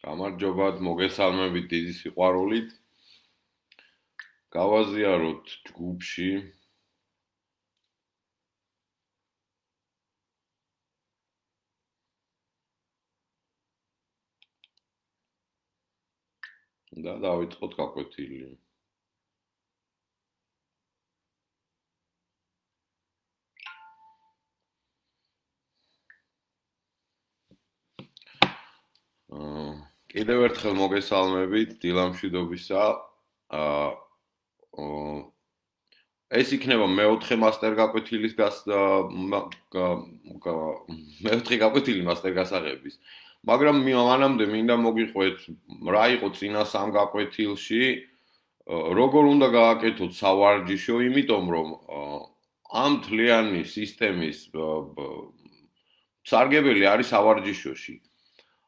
გამარჯობათ, მოგესალმებით დიდი სიყვარულით. გავაზიაროთ ჯგუფში. და დავიწყოთ გაკვეთილი. კიდევ ერთხელ მოგესალმებით დილამშვიდობისა. ეს იქნება მეოთხე მასტერ გაკვეთილის მეოთხე გაკვეთილი მასტერ გასაღების. მაგრამ მანამდე მინდა მოგიყვეთ რა იყო წინა სამ გაკვეთილში, როგორ უნდა გააკეთოთ სავარჯიშო, იმიტომ რომ ამ თლიანი სისტემის სარგებელი არის სავარჯიშოში.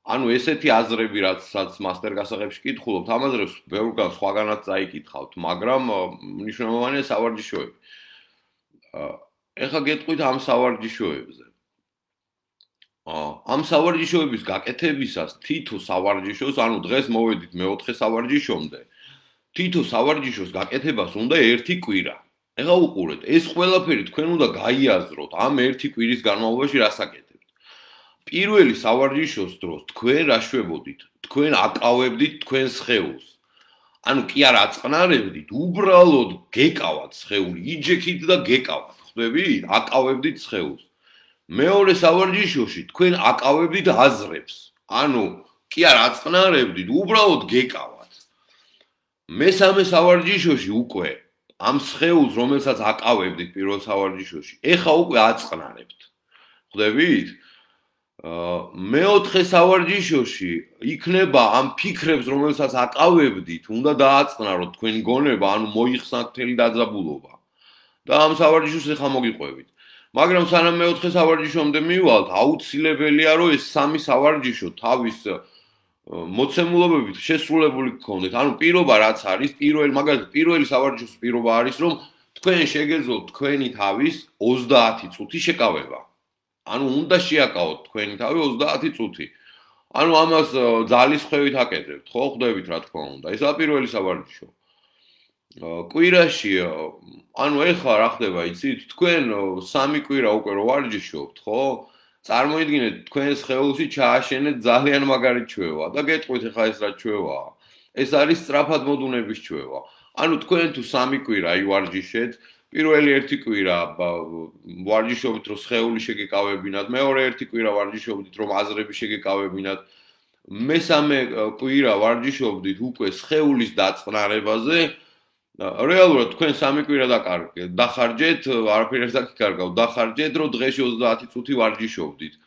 ანუ ესეთი აზრები რაც მასტერ გასაღებში კითხულობთ, ამაზე ბევრგან სხვაგანაც წაიკითხავთ, მაგრამ მნიშვნელოვანია სავარჯიშოები. ეხლა გეტყვით ამ სავარჯიშოებზე. ამ სავარჯიშოების გაკეთებისას თითო სავარჯიშოს, ანუ დღეს მოვედით მეოთხე სავარჯიშომდე, თითო სავარჯიშოს გაკეთებას უნდა ერთი კვირა. ეხლა უყურეთ, ეს ყველაფერი თქვენ უნდა გაიაზროთ ამ ერთი კვირის განმავლობაში რას აკეთებთ. პირველი სავარჯიშოს დროს თქვენ რა შვებოდით? თქვენ აკავებდით თქვენ სხეულს. ანუ კი არ აწყნარებდით, უბრალოდ გეკავათ სხეული, იჯექით და გეკავათ, ხვდებით? აკავებდით სხეულს. მეორე სავარჯიშოში თქვენ აკავებდით აზრებს. ანუ კი არ აწყნარებდით, უბრალოდ გეკავათ. მესამე სავარჯიშოში უკვე ამ სხეულს, რომელსაც აკავებდით პირველ სავარჯიშოში, ეხა უკვე აწყნარებთ. ხვდებით? მეოთხე სავარჯიშოში იქნება ამ ფიქრებს, რომელსაც აკავებდით, უნდა დააწყნაროთ თქვენი გონება, ანუ მოიხსნათ მთელი დაძაბულობა. და ამ სავარჯიშოს ეხა მოგიყვებით. მაგრამ სანამ მეოთხე სავარჯიშომდე მივალთ, აუცილებელია, რომ ეს სამი სავარჯიშო თავის მოცემულობებით შესრულებული გქონდეთ. ანუ პირობა რაც არის, მაგალითად, პირველი სავარჯიშოს პირობა არის, რომ თქვენ შეგეძლოთ თქვენი თავის 30 წუთი შეკავება. ანუ უნდა შეაკავოთ თქვენი თავი 30 წუთი. ანუ ამას ძალის ხვევით აკეთებთ, ხო, ხვდებით რა თქმა უნდა. ესაა პირველი სავარჯიშო. კვირაში, ანუ ეხლა რა ხდება, იცით? თქვენ 3 კვირა უკვე რო ვარჯიშობთ, ხო? წარმოიდგინეთ, თქვენ სხეულში ჩააშენეთ ძალიან მაგარი ჩვევა და გეტყვით ეხლა ეს რა ჩვევაა. ეს არის სწრაფად მოდუნების ჩვევა. ანუ თქვენ თუ 3 კვირა ივარჯიშეთ, პირველი ერთი კვირა ვარჯიშობთ, რომ სხეული შეგეკავებინათ, მეორე ერთი კვირა ვარჯიშობთ, რომ აზრები შეგეკავებინათ, მესამე კვირა ვარჯიშობთ უკვე სხეულის დაწყნარებაზე. რეალურად თქვენ 3 კვირა დახარჯეთ, არაფერი არ დაგიკარგავთ, დახარჯეთ, რომ დღეში 30 წუთი ვარჯიშობთ.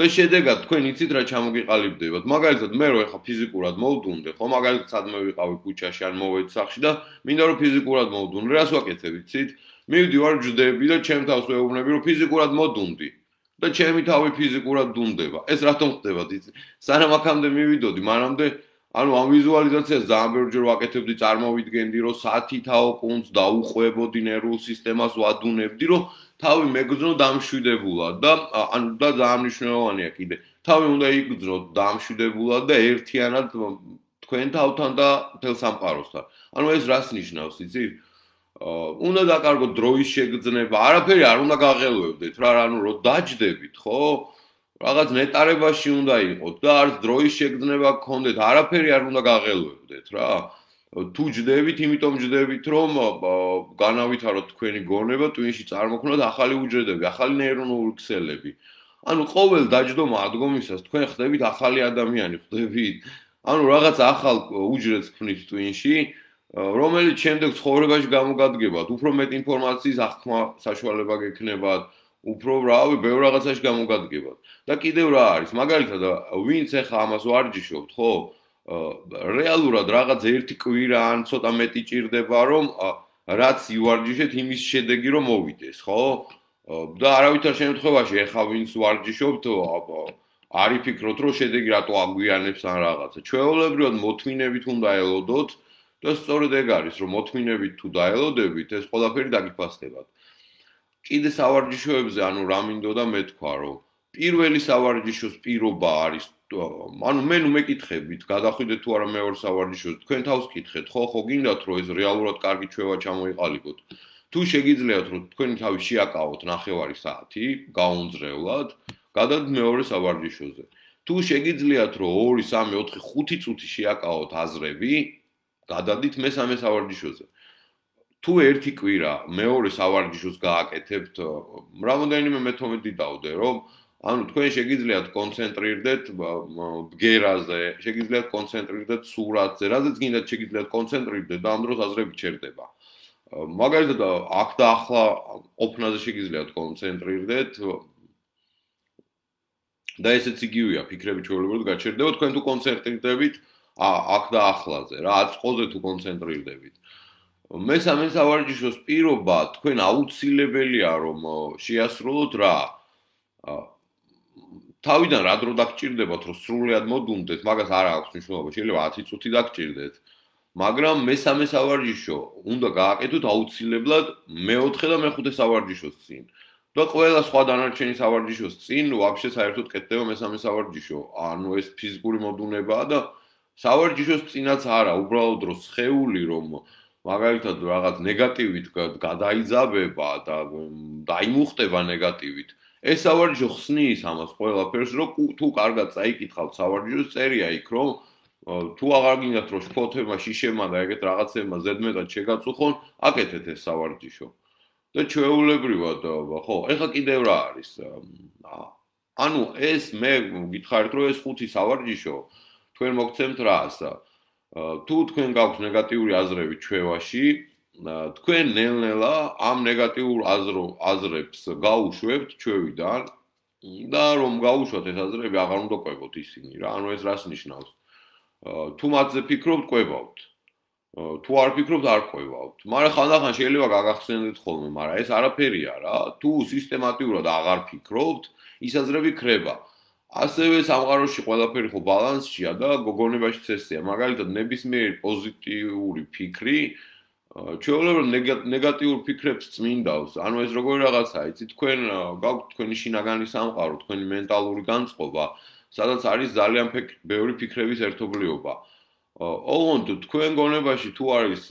და შედეგად თქვენ იცით რა ჩამოგიყალიბდებათ. მაგალითად, მე რო ეხა ფიზიკურად მოვდუნდე, ხო, მაგალითად, სადმე ვიყავი ქუჩაში ან მოვედი სახლში და მინდა რომ ფიზიკურად მოვდუნდე, რას ვაკეთებ, იცით? მივდივარ, ჯდები და ჩემ თავს ვეუბნები, რომ ფიზიკურად მოდუნდი და ჩემი თავი ფიზიკურად დუნდება. ეს რატომ ხდება, იცით? სანამ აქამდე მივიდოდი, მანამდე ანუ ამ ვიზუალიზაციას ძალიან ბევრჯერ ვაკეთებდი, წარმოვიდგენდი, რომ სათითაო კუნძ დაუყვებოდი ნერვულ სისტემას, ვადუნებდი, რომ თავი მეგრძნო დამშვიდებულად და ანუ და ძალიან მნიშვნელოვანია კიდე. თავი უნდა იგრძნო დამშვიდებულად და ერთიანად თქვენ თავთან და მთელ სამყაროსთან. ანუ ეს რას ნიშნავს, იცით? უნდა დაკარგოთ დროის შეგრძნება, არაფერი არ უნდა გაღელვებდეთ რა, ანუ რომ დაჯდებით, ხო? რაღაც ნეტარებაში უნდა იყოთ და არც დროის შეგრძნება გქონდეთ, არაფერი არ უნდა გაღელვებდეთ რა. თუ ჯდებით, იმიტომ ჯდებით, რომ განავითაროთ თქვენი გონება, ტვინში წარმოქმნათ ახალი უჯრედები, ახალი ნეირონული ქსელები. ანუ ყოველ დაჯდომა ადგომისას თქვენ ხდებით ახალი ადამიანი, ხდებით? ანუ რაღაც ახალ უჯრედს ქმნით ტვინში, რომელიც შემდეგ ცხოვრებაში გამოგადგებათ, უფრო მეტ ინფორმაციის აღქმა საშუალება გექნებათ, უფრო რავი, ბევრ რაღაცაში გამოგადგებათ. და კიდევ რა არის? მაგალითად, ვინც ახლა ამას ვარჯიშობთ, ხო? რეალურად რაღაც ერთი კვირა ან ცოტა მეტი ჭირდება, რომ რაც ივარჯიშეთ, იმის შედეგი რომ მოვიდეს, ხო? და არავითარ შემთხვევაში ახლა ვინც ვარჯიშობთ, არ იფიქროთ, რომ შედეგი რატო აგვიანებს ან რაღაცა. ჩვეულებრივად მოთმინებით უნდა ელოდოთ და სწორედ ეგ არის, რომ მოთმინებით თუ დაელოდებით, ეს ყველაფერი დაგიფასდებათ. კიდე სავარჯიშოებზე, ანუ რა მინდოდა მე თქვა, რომ პირველი სავარჯიშოს პირობა არის ანუ მე ნუ მეკითხებით, გადახვიდეთ თუ არა მეორე სავარჯიშოს, თქვენ თავს კითხეთ, ხო გინდათ რომ ეს რეალურად კარგი ჩვევა ჩამოიყალიბოთ. თუ შეგიძლიათ რომ თქვენი თავი შეაკავოთ 9 საათი, გაუნძრევლად, გადადთ მეორე სავარჯიშოზე. თუ შეგიძლიათ რომ 2, 3, 4, 5 წუთი შეაკავოთ აზრები, გადადით მესამე სავარჯიშოზე. თუ ერთი კვირა მეორე სავარჯიშოს გააკეთებთ, რამდენიმე მეთომედი დავდე, რომ ანუ თქვენ შეგიძლიათ კონცენტრირდეთ ბგერაზე, შეგიძლიათ კონცენტრირდეთ სურათზე, რაზეც გინდათ შეგიძლიათ კონცენტრირდეთ და ამ დროს აზრები ჩერდება. მაგალითად, აქ და ახლა ყოფნაზე შეგიძლიათ კონცენტრირდეთ და ესეც იგივეა, ფიქრები ჩვეულებრივად გაჩერდება, თქვენ თუ კონცენტრირდებით აქ და ახლაზე, რა, აწყოზე თუ კონცენტრირდებით. მესამე სავარჯიშოს პირობა თქვენ აუცილებელია რომ შეასრულოთ რა თავიდან რა დრო დაგჭირდებათ რომ სრულად მოდუნდეთ, მაგას არ აქვს მნიშვნელობა, შეიძლება 10 წუთი დაგჭირდეთ, მაგრამ მესამე სავარჯიშო უნდა გააკეთოთ აუცილებლად მეოთხე და მეხუთე სავარჯიშოს წინ. და ყველა სხვა დანარჩენი სავარჯიშოს წინ ვაფშე საერთოდ კეთდება მესამე სავარჯიშო. ანუ ეს ფიზიკური მოდუნებაა და სავარჯიშოს წინაც არა, უბრალოდ რომ სხეული რომ მაგალითად რაღაც ნეგატივით გადაიძაბება და დაიმუხტება ნეგატივით. ეს სავარჯიშო ხსნის ამას ყველაფერს, რომ თუ კარგად წაიკითხავთ სავარჯიშოს, წერია იქ, რომ თუ აღარ გინდათ რომ შფოთებმა, შიშებმა და ეგეთ რაღაცებმა ზედმეტად შეგაწუხონ, აკეთეთ ეს სავარჯიშო. და ჩვეულებრივად, ხო, ეხლა კიდევ რა არის? ანუ ეს მე გითხარით, რომ ეს 5 სავარჯიშო თქვენ მოგცემთ რას? თუ თქვენ გაქვთ ნეგატიური აზრები ჩვევაში, თქვენ ნელ-ნელა ამ ნეგატიურ აზრებს გაუშვებთ ჩვევიდან და რომ გაუშვათ ეს აზრები, აღარ უნდა ყვებოთ ისინი რა. ანუ ეს რას ნიშნავს? თუ მათზე ფიქრობთ, ყვებავთ. თუ არ ფიქრობთ, არ ყვევავთ. მაგრამ ხანდახან შეიძლება გაგახსენდეთ ხოლმე, მაგრამ ეს არაფერია რა. თუ სისტემატიურად აღარ ფიქრობთ, ის აზრები ქრება. ასევე სამყაროში ყველაფერი ხო ბალანსშია და გოგონებაშიც ესეა. მაგალითად, ნებისმიერი პოზიტიური ფიქრი ჩვეულებრივ ნეგატიურ ფიქრებს წმინდავს. ანუ ეს როგორი რაღაცაა, იცით, თქვენ გაქვთ თქვენი შინაგანი სამყარო, თქვენი მენტალური განწყობა, სადაც არის ძალიან ბევრი ფიქრების ერთობლიობა. ოღონდ თქვენ გონებაში თუ არის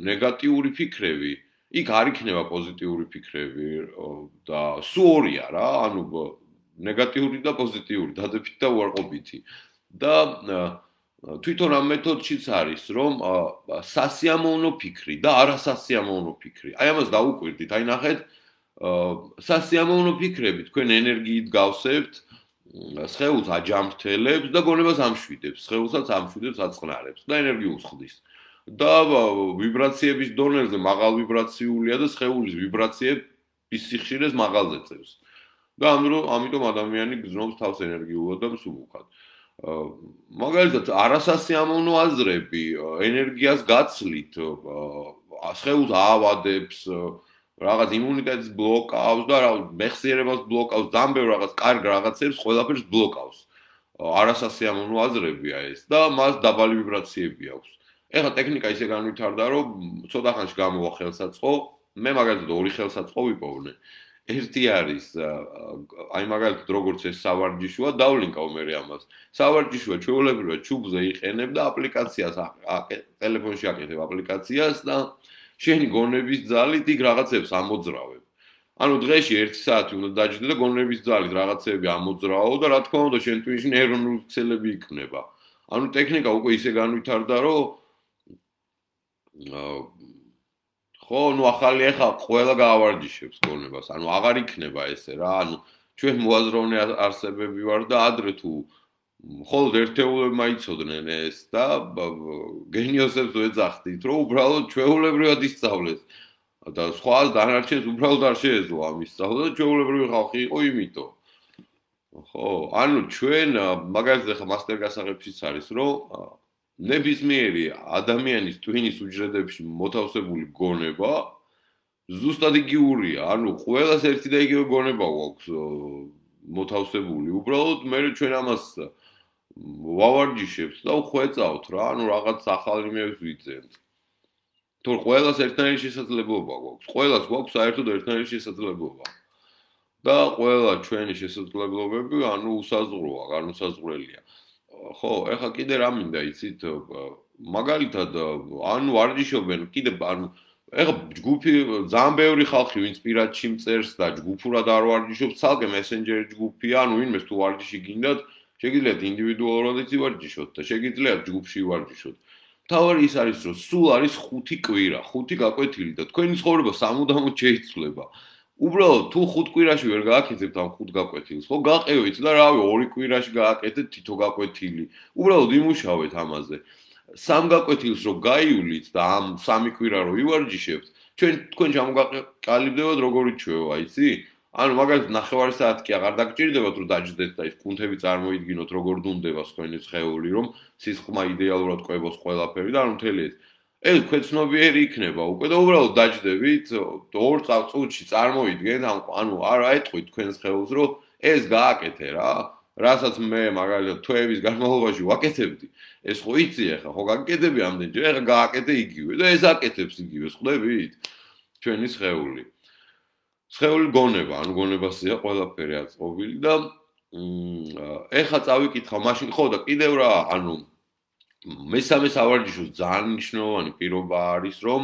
ნეგატიური ფიქრები, იქ არ იქნება პოზიტიური ფიქრები და სულ ორია რა, ანუ ნეგატიური და პოზიტიური, დადებითი და უარყოფითი. და თვითონ ამ მეთოდშიც არის, რომ სასიამოვნო ფიქრი და არასასიამოვნო ფიქრი. აი ამას დაუკვირდით, აი ნახეთ, სასიამოვნო ფიქრები თქვენ ენერგიით გავსებთ, სხეულს აჯამრთელებს და გონებას ამშვიდებს, სხეულსაც ამშვიდებს, აწყნარებს და ენერგიულს ხდის. და ვიბრაციების დონეზე მაღალ ვიბრაციულია და სხეულის ვიბრაციების სიხშირეს მაღალზე წევს. და ამიტომ ადამიანი გრძნობს თავს ენერგიულად და მსუბუქად. მაგალითად, არასასიამოვნო აზრები ენერგიას გაცლით, სხეულს აავადებს, რაღაც იმუნიტეტს ბლოკავს და მეხსიერებას ბლოკავს, ძალიან ბევრ რაღაც კარგ რაღაცებს ყველაფერს ბლოკავს. არასასიამოვნო აზრებია ეს და მას დაბალი ვიბრაციები აქვს. ეხლა ტექნიკა ისე განვითარდა, რომ ცოტა ხანში გამოვა ხელსაწყო, მე მაგალითად 2 ხელსაწყო ვიპოვნე. ერთი არის აი მაგალითად როგორც ეს სავარჯიშოა, დავლინკავ მე ამას. სავარჯიშოა ჩვეულებრივად ჩუბზე იყენებ და აპლიკაციას ტელეფონში აკეთებ აპლიკაციას და შენი გონების ძალით იქ რაღაცებს ამოძრავებ. ანუ დღეში 1 საათი უნდა დაჯდე და გონების ძალით რაღაცები ამოძრავო და რა თქმა უნდა შენ თვითონ ნეირონული ქსელები იქნება. ანუ ტექნიკა უკვე ისე განვითარდა, რომ ხო, ნუ ახალი ახლა ყველა გაავარჯიშებს გონებას. ანუ აღარ იქნება ესე რა. ანუ ჩვენ მოაზროვნე არსებები ვარ და ადრე თუ მხოლოდ ერთეულებმა იცოდნენ ეს და გენიოსებს ვეძახდით, რომ უბრალოდ ჩვეულებრივად ისწავლეს და სხვა დანარჩენს უბრალოდ არ შეეძლო ამის სწავლა და ჩვეულებრივი ხალხი იყო იმიტომ. ხო, ანუ ჩვენ მაგალითად ახლა მასტერ გასაღებშიც არის, რომ ნებისმიერი ადამიანის ტვინის უჯრედებში მოთავსებული გონება ზუსტად იგივეა. ანუ ყველას ერთი და იგივე გონება გვაქვს მოთავსებული. უბრალოდ მე ჩვენ ამას ვავარჯიშებთ და ვხვეწავთ რა, ანუ რაღაც ახალ იმებს ვიძენთ. თორე ყველას ერთნაირი შესაძლებლობა გვაქვს. ყველას გვაქვს საერთოდ ერთნაირი შესაძლებლობა. და ყველა ჩვენი შესაძლებლობები უსაზღვროა, განუსაზღვრელია. ხო, ეხლა კიდე რა მინდა იცით, მაგალითად, ვარჯიშობენ, კიდე ეხლა ჯგუფი ძალიან ბევრი ხალხი ვინც პირადში მწერს და ჯგუფურად არ ვარჯიშობს, ცალკე მესენჯერი ჯგუფია, ვინმეს თუ ვარჯიში გინდათ, შეგიძლიათ ინდივიდუალურადიც ივარჯიშოთ და შეგიძლიათ ჯგუფში ივარჯიშოთ. თავარი ის არის, რომ სულ არის 5 კვირა, 5 გაკვეთილი და თქვენი ცხოვრება სამუდამოდ შეიცვლება. უბრალოდ თუ 5 კვირაში ვერ გააკეთებთ ამ 5 გაკვეთილს, ხო გაყევით და რავი 2 კვირაში გააკეთეთ თითო გაკვეთილი. უბრალოდ იმუშავეთ ამაზე. 3 გაკვეთილს რო გაივლით და ამ 3 კვირა რო ივარჯიშებთ, თქვენ ჩამოგაყალიბდებათ როგორი ჩვევა, იცი? ანუ მაგალითად 9 საათი კი აღარ დაგჭირდებათ რომ დაჯდეთ და ის კუნთები წარმოიდგინოთ როგორ დუნდება თქვენი სხეული, რომ სისხლმა იდეალურად ყვებოს ყველაფერი და ანუ მთელი ეს ქვეცნობიერი იქნება უკვე და უბრალოდ დაჯდებით 2 წუთში წარმოიდგენთ ანუ არ აეტყვით თქვენს ხელს რომ ეს გააკეთე რა რასაც მე მაგალითად თვეების განმავლობაში ვაკეთებდი ეს ხო იცი ახლა ხო გაკეთები ამდენჯერ ახლა გააკეთე იგივე და ეს აკეთებს იგივე ხვდებით ჩვენი სხეული გონება ანუ გონებასია ყველაფერი აწყობილი და ეხლა წავიკითხავ მაშინ ხო და კიდევ რა ანუ მესამე სავარჯიშოს ძალიან მნიშვნელოვანი პირობა არის რომ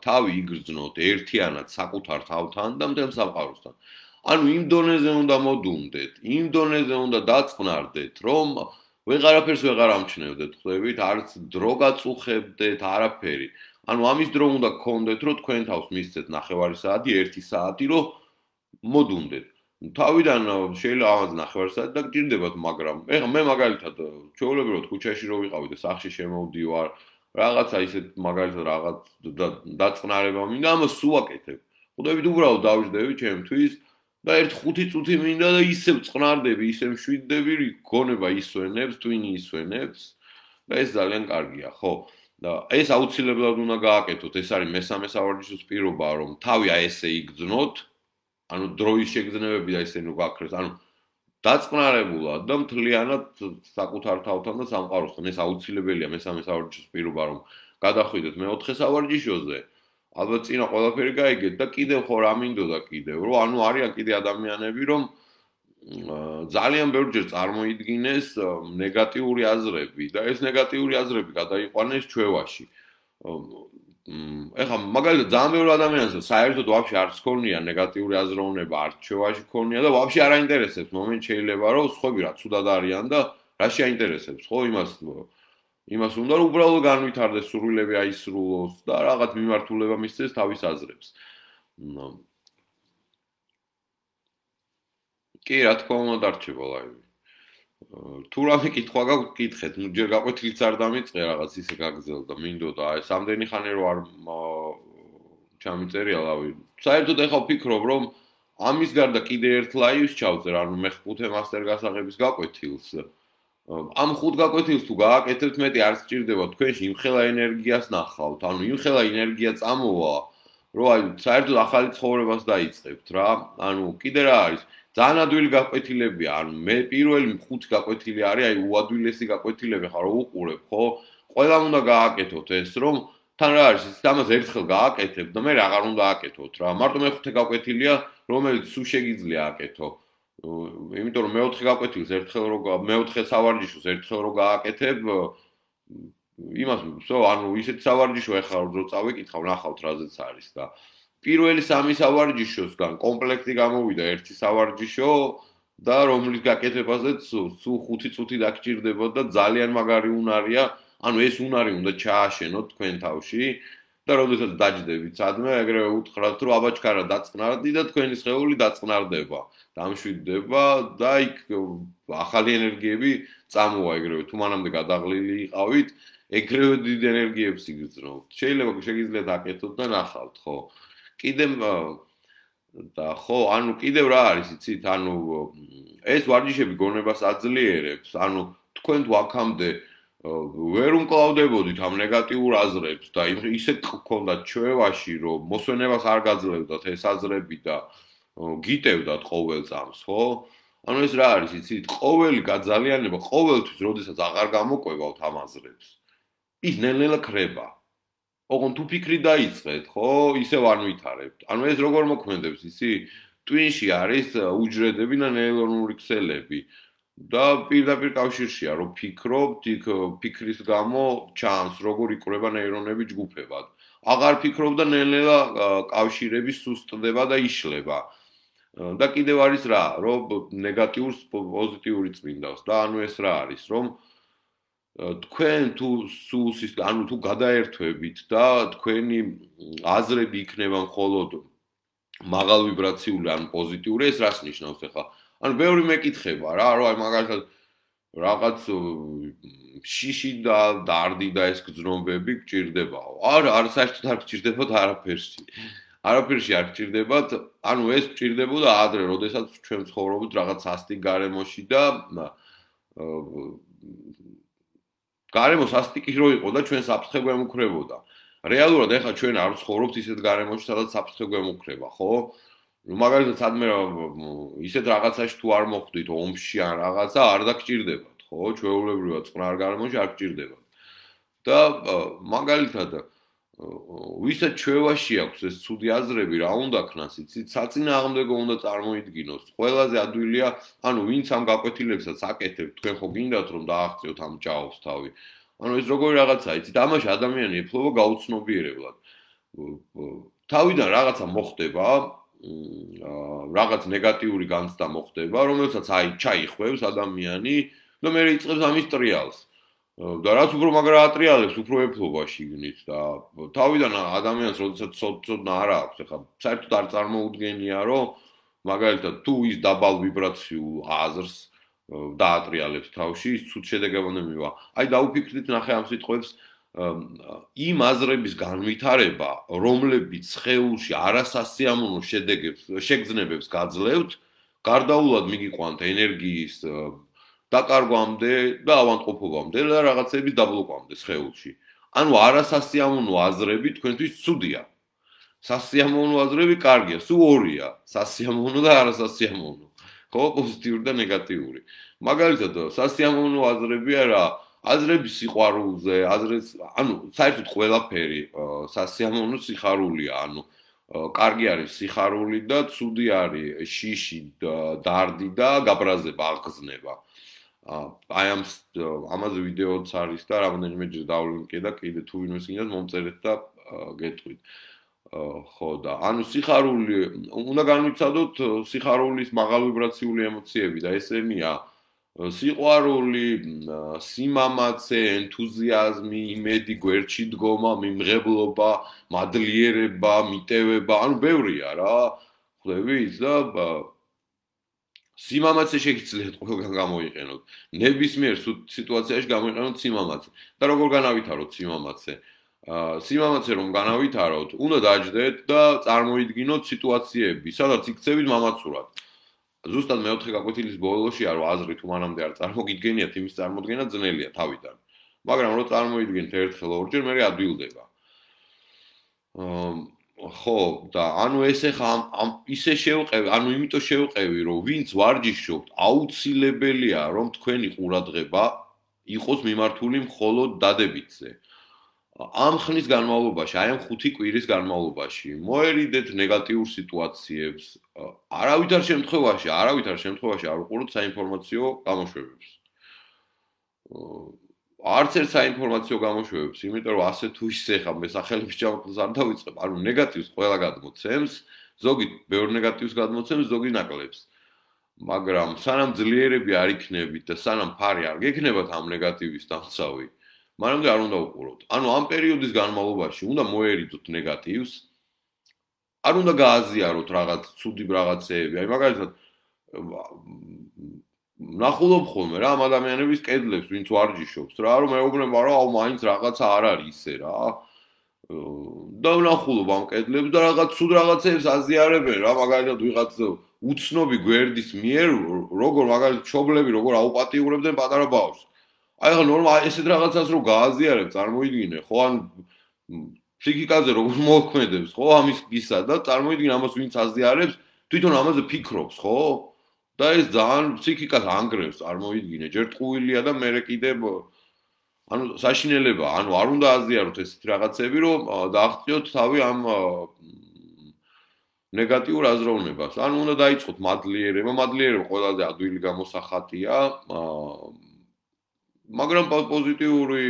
თავი იგრძნოთ ერთიანად საკუთარ თავთან და მთელ სამყაროსთან. ანუ იმ დონეზე უნდა მოდუნდეთ, იმ დონეზე უნდა დაწყნარდეთ, რომ ვეღარაფერს ვეღარ ამჩნევდეთ, ხვდებით, არც დრო გაწუხებდეთ, არაფერი. ანუ ამის დრო უნდა გქონდეთ, რომ თქვენ თავს მისცეთ 9 საათი, 1 საათი, რომ მოდუნდეთ. თავიდან შეიძლება ამას 9 საათი დაგჭირდებათ, მაგრამ ეხლა მე მაგალითად ჩვეულებრივად ქუჩაში რო ვიყავი და სახში შემოვდივარ, რაღაცა ისეთ მაგალითად რაღაც დაწყნარება მინდა, ამას სულ აკეთებ. ხვდებით, უბრალოდ დავждები ჩემთვის და 1-5 წუთი მინდა და ისევ წყნარდები, ისევ მშვიდდები, გონება ისვენებს, twin-ი ისვენებს და ეს ძალიან კარგია, ხო? და ეს აუცილებლად უნდა გააკეთოთ, ეს არის მესამე სავარჯიშოს პირობა, რომ თავი აი ესე იგრძნოთ. ანუ დროის შეგრძნებები და ისე ნუ გაქრეს, ანუ დაწყნარებულად და მთლიანად საკუთარ თავთან და სამყაროსთან ეს აუცილებელია მესამე სავარჯიშოს პირობა რომ გადახვიდეთ მეოთხე სავარჯიშოზე. ალბათ წინა ყველაფერი გაიგეთ და კიდევ ხო რა მინდოდა კიდევ რომ ანუ არიან კიდე ადამიანები რომ ძალიან ბევრჯერ წარმოიდგინეს ნეგატიური აზრები და ეს ნეგატიური აზრები გადაიყვანეს ჩვევაში. ეხლა მაგალითად ძალიან ბევრი ადამიანს საერთოდ ვაფშე არც ქონია ნეგატიური აზროვნება, არც ჩვევაში ქონია და ვაფშე არ აინტერესებს მომენტ შეიძლება რომ სხვები რა ცუდად არიან და რა შეაინტერესებს ხო იმას უნდა რომ უბრალოდ განვითარდეს სურვილები აისრულოს და რაღაც მიმართულება მისცეს თავის აზრებს. კი რა თქმა უნდა დარჩება ლაივი. თუ რამე კითხვა გაქვთ, კითხეთ. ნუ ჯერ გაყვეთილიც არ დამიწყე რაღაც ისე გაგზელდა, მინდოდა აი სამდენი ხანი რო არ ჩამიწერია ლავი. საერთოდ ეხლა ვფიქრობ, რომ ამის გარდა კიდე ერთ ლაივს ჩავწერ, ანუ მე 5 მასტერ გასაღების გაყვეთილს. ამ 5 გაკვეთილს თუ გააკეთებთ, მეტი არ სჭირდება თქვენში იმხელა ენერგიას ნახავთ. ანუ იმხელა ენერგია წამოვა, რომ აი საერთოდ ახალი ცხოვრებას დაიწყებთ რა. ანუ კიდე რა არის? ძალიან ადვილი გაკვეთილებია, ანუ მე პირველი 5 გაკვეთილი არის, აი უადვილესი გაკვეთილები ხარ, რო უყურებ, ხო? ყველამ უნდა გააკეთოთ ეს, რომ თან რა არის, ის ამას ერთხელ გააკეთებ და მე აღარ უნდა აკეთოთ რა. მარტო მე-5 გაკვეთილია, რომელიც სულ შეგიძლია აკეთო. იმიტომ რომ მე-4 გაკვეთილს ერთხელ მე-4 სავარჯიშოს ერთხელ რო გააკეთებ, იმას ანუ ისეთ სავარჯიშო ეხლა რო წავიკითხავ, ნახავთ რაზეც არის და პირველი 3 სავარჯიშოსგან კომპლექტი გამოვიდა 1 სავარჯიშო და რომლის გაკეთებაზეც სულ 5 წუთი დაგჭირდებოდა და ძალიან მაგარი უნარია, ანუ ეს უნარი უნდა ჩააშენოთ თქვენ თავში და როდესაც დაჯდებით სადმე, ეგრევე უთხრათ, რომ აბაჩქარა დაწყნარდი და თქვენი სხეული დაწყნარდება, დამშვიდდება და იქ ახალი ენერგიები წამოვა ეგრევე, თუ მანამდე გადაღლილი იყავით, ეგრევე დიდ ენერგიებს იგრძნობთ. შეიძლება შეგიძლიათ აკეთოთ და ნახავთ, ხო? კიდევ და ხო, ანუ კიდევ რა არის, იცით, ანუ ეს ვარჯიშები გონებას აძლიერებს, ანუ თქვენ თუ აქამდე ვერ უმკლავდებოდით ამ ნეგატიურ აზრებს და ისეთ გქონდათ ჩვევაში, რომ მოსვენებას არ გაძლევდათ ეს აზრები და გიტევდათ ყოველ წამს, ხო? ანუ ეს რა არის, იცით, ყოველი გაძალიანება, ყოველთვის, როდესაც აღარ გამოყვებავთ ამ აზრებს, ის ნელ-ნელა ქრება. ოღონდ თუ ფიქრი დაიწყეთ, ხო, ისევ არ ვითარებთ. ანუ ეს როგორ მოქმედებს, იცი? ტვინში არის უჯრედები და ნეირონული ქსელები. და პირდაპირ კავშირშია, რომ ფიქრობთ, იქ ფიქრის გამო ჩანს, როგორ იკვრება ნეირონები ჯგუფებად. აღარ ფიქრობ და ნელ-ნელა კავშირები სუსტდება და იშლება. და კიდევ არის რა, რომ ნეგატიურს პოზიტიური წმინდავს და ანუ ეს რა არის, რომ თქვენ თუ სულს ანუ თუ გადაერთვებით და თქვენი აზრები იქნება მხოლოდ მაღალ ვიბრაციული ან პოზიტიური, ეს რას ნიშნავს ახლა? ანუ ბევრი მეკითხება რა, რომ აი მაგალითად რაღაც შიში და დარდი და ეს გზნობები გჭირდებაო. არა, საერთოდ არ გჭირდებათ არაფერში. არაფერში არ გჭირდებათ, ანუ ეს გჭირდებოდა ადრე, როდესაც ჩვენ ცხოვრობთ რაღაც სასტიკ გარემოში და გარემო სასტიკი რო იყო და ჩვენ საფრთხე გვემუქრებოდა. რეალურად ეხლა ჩვენ არ ცხოვრობთ ისეთ გარემოში, სადაც საფრთხე გვემუქრება, ხო? მაგალითად, სადმე ისეთ რაღაცაში თუ არ მოხვდით ომში ან რაღაცა, არ დაგჭირდებათ, ხო? ჩვეულებრივად წყნარ გარემოში არ გჭირდებათ. და მაგალითად, ვისაც ჩვევაში აქვს ეს ცუდი აზრები, რა უნდა ქნას, იცით, საწინააღმდეგო უნდა წარმოიდგინოს. ყველაზე ადვილია, ანუ ვინც ამ გაკვეთილებსაც აკეთებთ, თქვენ ხო გინდათ რომ დააღწიოთ ამ ჭაობს თავი. ანუ ეს როგორი რაღაცაა, იცით, ამაში ადამიანი ეფლობა გაუცნობიერებლად. თავიდან რაღაცა მოხდება, რაღაც ნეგატიური განცდა მოხდება, რომელსაც აი ჩაიხვევს ადამიანი და მე იწყებს ამის ტრიალს. და რაც უფრო მაგრა ატრიალებს, უფრო ეფლობაში გინით და თავიდან ადამიანს როდესაც ცოდნა არ აქვს, ახლა საერთოდ არ წარმოუდგენია, რომ მაგალითად თუ ის დაბალ ვიბრაციულ აზრს დაატრიალებს თავში, ის ცუდ შედეგებამდე მივა. აი დაუფიქრდით ნახე ამ სიტყვებს, იმ აზრების განვითარება, რომლებიც სხეულში არასასიამოვნო შეგრძნებებს გაძლევთ, გარდაულად მიგიყვანთ ენერგიის დაკარგვამდე და ავანტყოფობამდე და რაღაცების დაბლოკვამდე სხეულში. ანუ არასასიამოვნო აზრები თქვენთვის ცუდია. სასიამოვნო აზრები კარგია, სულ ორია, სასიამოვნო და არასასიამოვნო. ხო, პოზიტიური და ნეგატიური. მაგალითად, სასიამოვნო აზრებია რა, აზრები სიყვარულზე, ანუ საერთოდ ყველაფერი სასიამოვნო სიხარულია, ანუ კარგი არის სიხარული და ცუდი არის შიში, დარდი და გაბრაზება, აღგზნება. აი ამაზე ვიდეოც არის და რამდენიმეჯერ დავლინკე და კიდე თუ ვინმე გინდათ მომწერეთ და გეტყვით. ხო და ანუ სიხარული უნდა განვიცადოთ სიხარულის მაღალ ვიბრაციული ემოციები და ესენია სიყვარული, სიმამაცე, ენთუზიაზმი, იმედი, გვერდში დგომა, მიმღებლობა, მადლიერება, მიტევება, ანუ ბევრია რა. ხვდებით და სიმამაცე შეგიძლიათ ყველგან გამოიყენოთ. ნებისმიერ სიტუაციაში გამოიყენოთ სიმამაცე. და როგორ განავითაროთ სიმამაცე? სიმამაცე რომ განავითაროთ, უნდა დაждდეთ და წარმოიდგინოთ სიტუაციები, სადაც იქცევით მამაცურად. ზუსტად მეოთხე გაკვეთილის ბოლოშია, რომ აზრი თუ მანამდე არ წარმოგიდგენიათ, იმის წარმოდგენა ძნელია თავიდან. მაგრამ რომ წარმოიდგინეთ ერთხელ ორჯერ, მე ადვილდება. ხო, და ანუ ეს ახლა ისე შევყევი, ანუ იმიტომ შევყევი, რომ ვინც ვარჯიშობთ, აუცილებელია, რომ თქვენი ყურადღება იყოს მიმართული მხოლოდ დადებითზე. ამ ხნის განმავლობაში, აი ამ 5 კვირის განმავლობაში, მოერიდეთ ნეგატიურ სიტუაციებს, არავითარ შემთხვევაში არ უყუროთ საინფორმაციო გამოშვებებს. არც ერთ საინფორმაციო გამოშვებებს, იმიტომ რომ ასე თუ ისე ხა მე სახელების ჩამოთვლას არ დავიწყებ, ანუ ნეგატივს ყველა გადმოცემს, ზოგი ბევრ ნეგატივს გადმოცემს, ზოგი ნაკლებს. მაგრამ სანამ ძლიერები არ იქნებით და სანამ ფარი არ გექნებათ ამ ნეგატივის დამცავი, მანამდე არ უნდა უყუროთ. ანუ ამ პერიოდის განმავლობაში უნდა მოერიდოთ ნეგატივს, არ უნდა გააზიაროთ რაღაც ცუდი რაღაცეები. აი მაგალითად ნახულობ ხოლმე რა ამ ადამიანების კედლებს, ვინც ვარჯიშობს რა, რომ მეუბნება რა, აუ მაინც რაღაცა არ არის ისე რა. და ნახულობ ამ კედლებს და რაღაც ცუდ რაღაცებს აზიარებენ რა, მაგალითად ვიღაც უცნობი გვერდის მიერ როგორ მაგალითად ჩობლები როგორ აუპატიურებდნენ პატარა ბავშვს. აი ხა ნორმალ ესეთ რაღაცას რო გააზიარებ, წარმოიდგინე, ხო, ან ფსიქიკაზე როგორ მოქმედებს, ხო, ამის გისა და წარმოიდგინე ამას ვინც აზიარებს, თვითონ ამაზე ფიქრობს, ხო? და ეს ძალიან ფსიქიკას ანგრევს, წარმოიდგინე, ჯერ ტყუილია და მერე კიდე ანუ საშინელება, ანუ არ უნდა აზიაროთ ესეთ რაღაცები, რომ დააღწიოთ თავი ამ ნეგატიურ აზროვნებას. ანუ უნდა დაიწყოთ მადლიერება, მადლიერება ყველაზე ადვილი გამოსახატია, მაგრამ პოზიტიური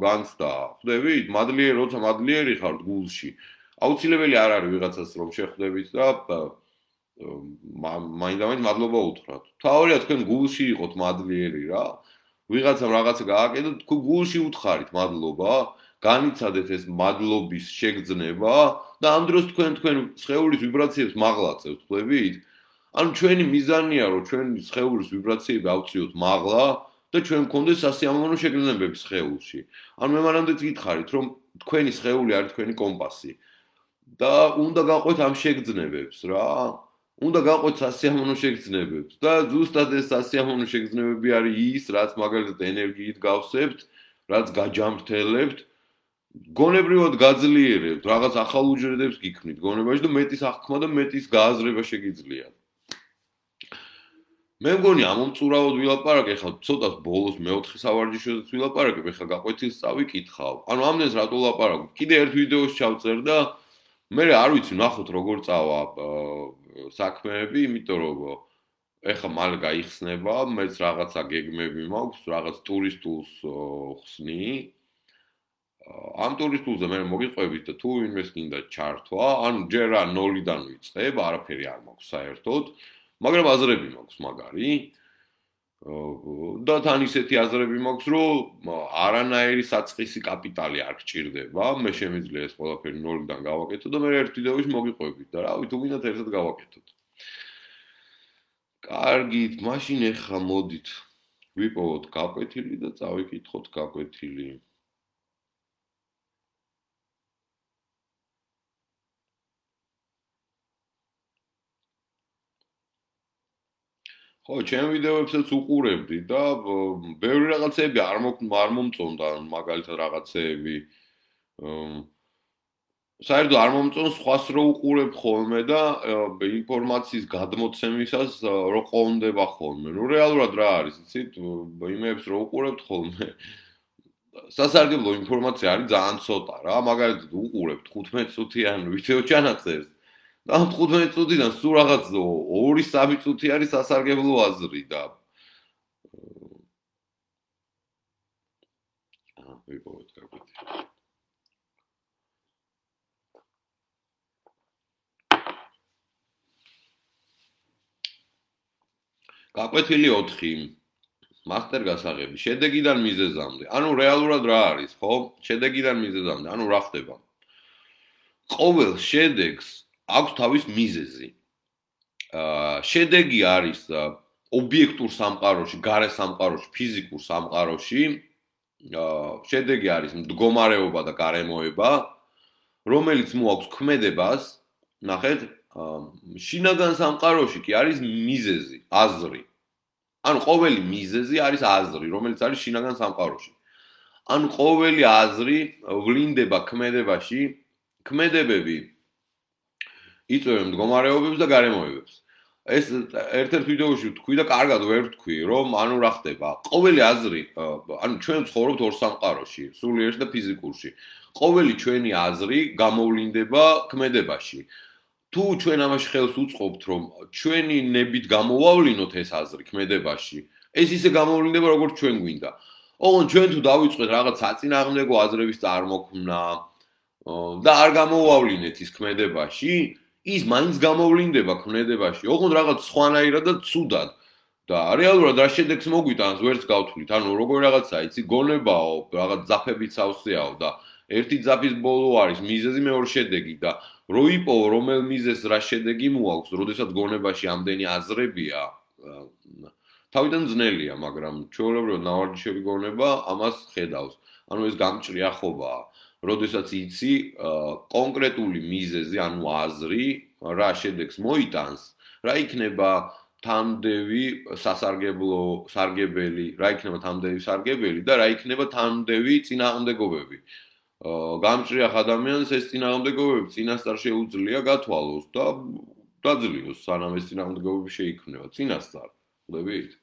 განცდა, ხვდებით? როცა მადლიერი ხართ გულში, აუცილებელი არ არის ვიღაცას რომ შეხვდებით და მაინდამაინც მადლობა უთხრათ. თავარია თქვენ გულში იყოთ მადლიერი რა. ვიღაცამ რაღაცა გააკეთოთ, თქვენ გულში უთხარით მადლობა, განიცადეთ ეს მადლობის შეგრძნება და ამ დროს თქვენ სხეულის ვიბრაციებს მაღლացევთ, ხვდებით? ანუ ჩვენი მიზანია რომ ჩვენი სხეულის ვიბრაციები ავწიოთ მაღლა და ჩვენ გქონდეს სასიამოვნო შეგრძნებები სხეულში. ანუ მე მანამდეც გითხარით რომ თქვენი სხეული არის თქვენი კომპასი და უნდა გაყვეთ ამ შეგრძნებებს რა. უნდა გაყვეთ სასიამოვნო შეგრძნებებს და ზუსტად ეს სასიამოვნო შეგრძნებები არის ის, რაც მაგალითად ენერგიით გავსებთ, რაც გაჯამრთელებთ, გონებრივად გაძლიერებთ, რაღაც ახალ უჯრედებს გიქმნით გონებაში და მეტის აღქმა და მეტის გააზრება შეგიძლიათ. მე მგონი ამომწურავად ვილაპარაკე, ხა ცოტა ბოლოს მეოთხე სავარჯიშოზე ვილაპარაკებ, ხა გაყვეთილს წავიკითხავ. ანუ ამდენს რატო ვლაპარაკობ? კიდე ერთ ვიდეოს ჩავწერ და მე არ ვიცი, ნახოთ როგორ წავა საქმეები, იმიტომ რომ ეხა მალე გაიხსნება, მეც რაღაცა გეგმები მაქვს, რაღაც ტურისტულს ხსნი. ამ ტურისტულზე მე მოგიყვებით და თუ ვინმეს გინდა ჩართვა, ანუ ჯერ რა 0-დან ვიწყებ, არაფერი არ მაქვს საერთოდ, მაგრამ აზრები მაქვს მაგარი. და თან ისეთი აზრები მაქვს, რომ არანაირი საწყისი კაპიტალი არ გჭირდება, მე შემიძლია ეს ყველაფერი 0-დან გავაკეთო და მე ერთ ვიდეოში მოგიყვებით და რავი, თუ გინდათ ერთად გავაკეთოთ. კარგით, მაშინ ეხა მოდით ვიპოვოთ გაკვეთილი და წავიკითხოთ გაკვეთილი. ხო, ჩემ ვიდეოებსაც უყურებდი და ბევრი რაღაცები არ მომწონდა, მაგალითად რაღაცეები. საერთოდ არ მომწონს სხვას რო უყურებ ხოლმე და ინფორმაციის გადმოცემისას რო ყონდება ხოლმე. ნუ რეალურად რა არის, იცით? იმეებს რო უყურებთ ხოლმე. სასარგებლო ინფორმაცია არის ძალიან ცოტა რა. მაგალითად უყურებთ 15 წუთიან ვიდეო ჩანაწერს. და 15 წუთიდან სულ რაღაც 2-3 წუთი არის სასარგებლო აზრი და ვიპოვეთ გაკვეთილი. გაკვეთილი 4. მასტერ გასაღები. შედეგიდან მიზეზამდე. ანუ რეალურად რა არის, ხო? შედეგიდან მიზეზამდე. ანუ რა ხდება? ყოველ შედეგს აქვს თავის მიზეზი. შედეგი არის ობიექტურ სამყაროში, გარე სამყაროში, ფიზიკურ სამყაროში. შედეგი არის მდგომარეობა და გარემოება, რომელიც მოაქვს ქმედებას, ნახეთ, შინაგან სამყაროში კი არის მიზეზი, აზრი. ანუ ყოველი მიზეზი არის აზრი, რომელიც არის შინაგან სამყაროში. ანუ ყოველი აზრი ვლინდება ქმედებაში, ქმედებები იწვევენ მდგომარეობებს და გარემოებებს. ეს ერთ-ერთ ვიდეოში ვთქვი და კარგად ვერ ვთქვი, რომ ანუ რა ხდება? ყოველი აზრი, ანუ ჩვენ ცხოვრობთ ორ სამყაროში, სულიერში და ფიზიკურში. ყოველი ჩვენი აზრი გამოვლინდება ქმედებაში. თუ ჩვენ ამაში ხელს უწყობთ, რომ ჩვენი ნებით გამოვავლინოთ ეს აზრი ქმედებაში, ეს ისე გამოვლინდება, როგორც ჩვენ გვინდა. ოღონდ ჩვენ თუ დავიწყეთ რაღაც საწინააღმდეგო აზრების წარმოქმნა და არ გამოვავლინეთ ის ქმედებაში, ის მაინც გამოვლინდება ქმედებაში, ოღონდ რაღაც სხვანაირად და ცუდად. და რეალურად რა შედეგს მოგვიტანს, ვერც გავთვლით. ანუ როგორ რაღაცა, იცი, გონებაო, რაღაც ძაფებით სავსეაო და ერთი ძაფის ბოლო არის მიზეზი, მეორე შედეგი და რო იპოვო რომელ მიზეზს რა შედეგი მოაქვს, როდესაც გონებაში ამდენი აზრებია, თავიდან ძნელია, მაგრამ ჩვეულებრივად ნავარჯიშები გონება ამას ხედავს. ანუ ეს გამჭრიახობაა. როდესაც იცი კონკრეტული მიზეზი, ანუ აზრი, რა შედეგს მოიტანს, რა იქნება თამდევი სარგებელი, რა იქნება თამდევი სარგებელი და რა იქნება თამდევი წინააღმდეგობები. გამჭრიახ ადამიანს ეს წინააღმდეგობები წინასწარ შეუძლია გათვალოს და დაძლიოს, სანამ ეს წინააღმდეგობები შეიქმნება წინასწარ. ხვდებით?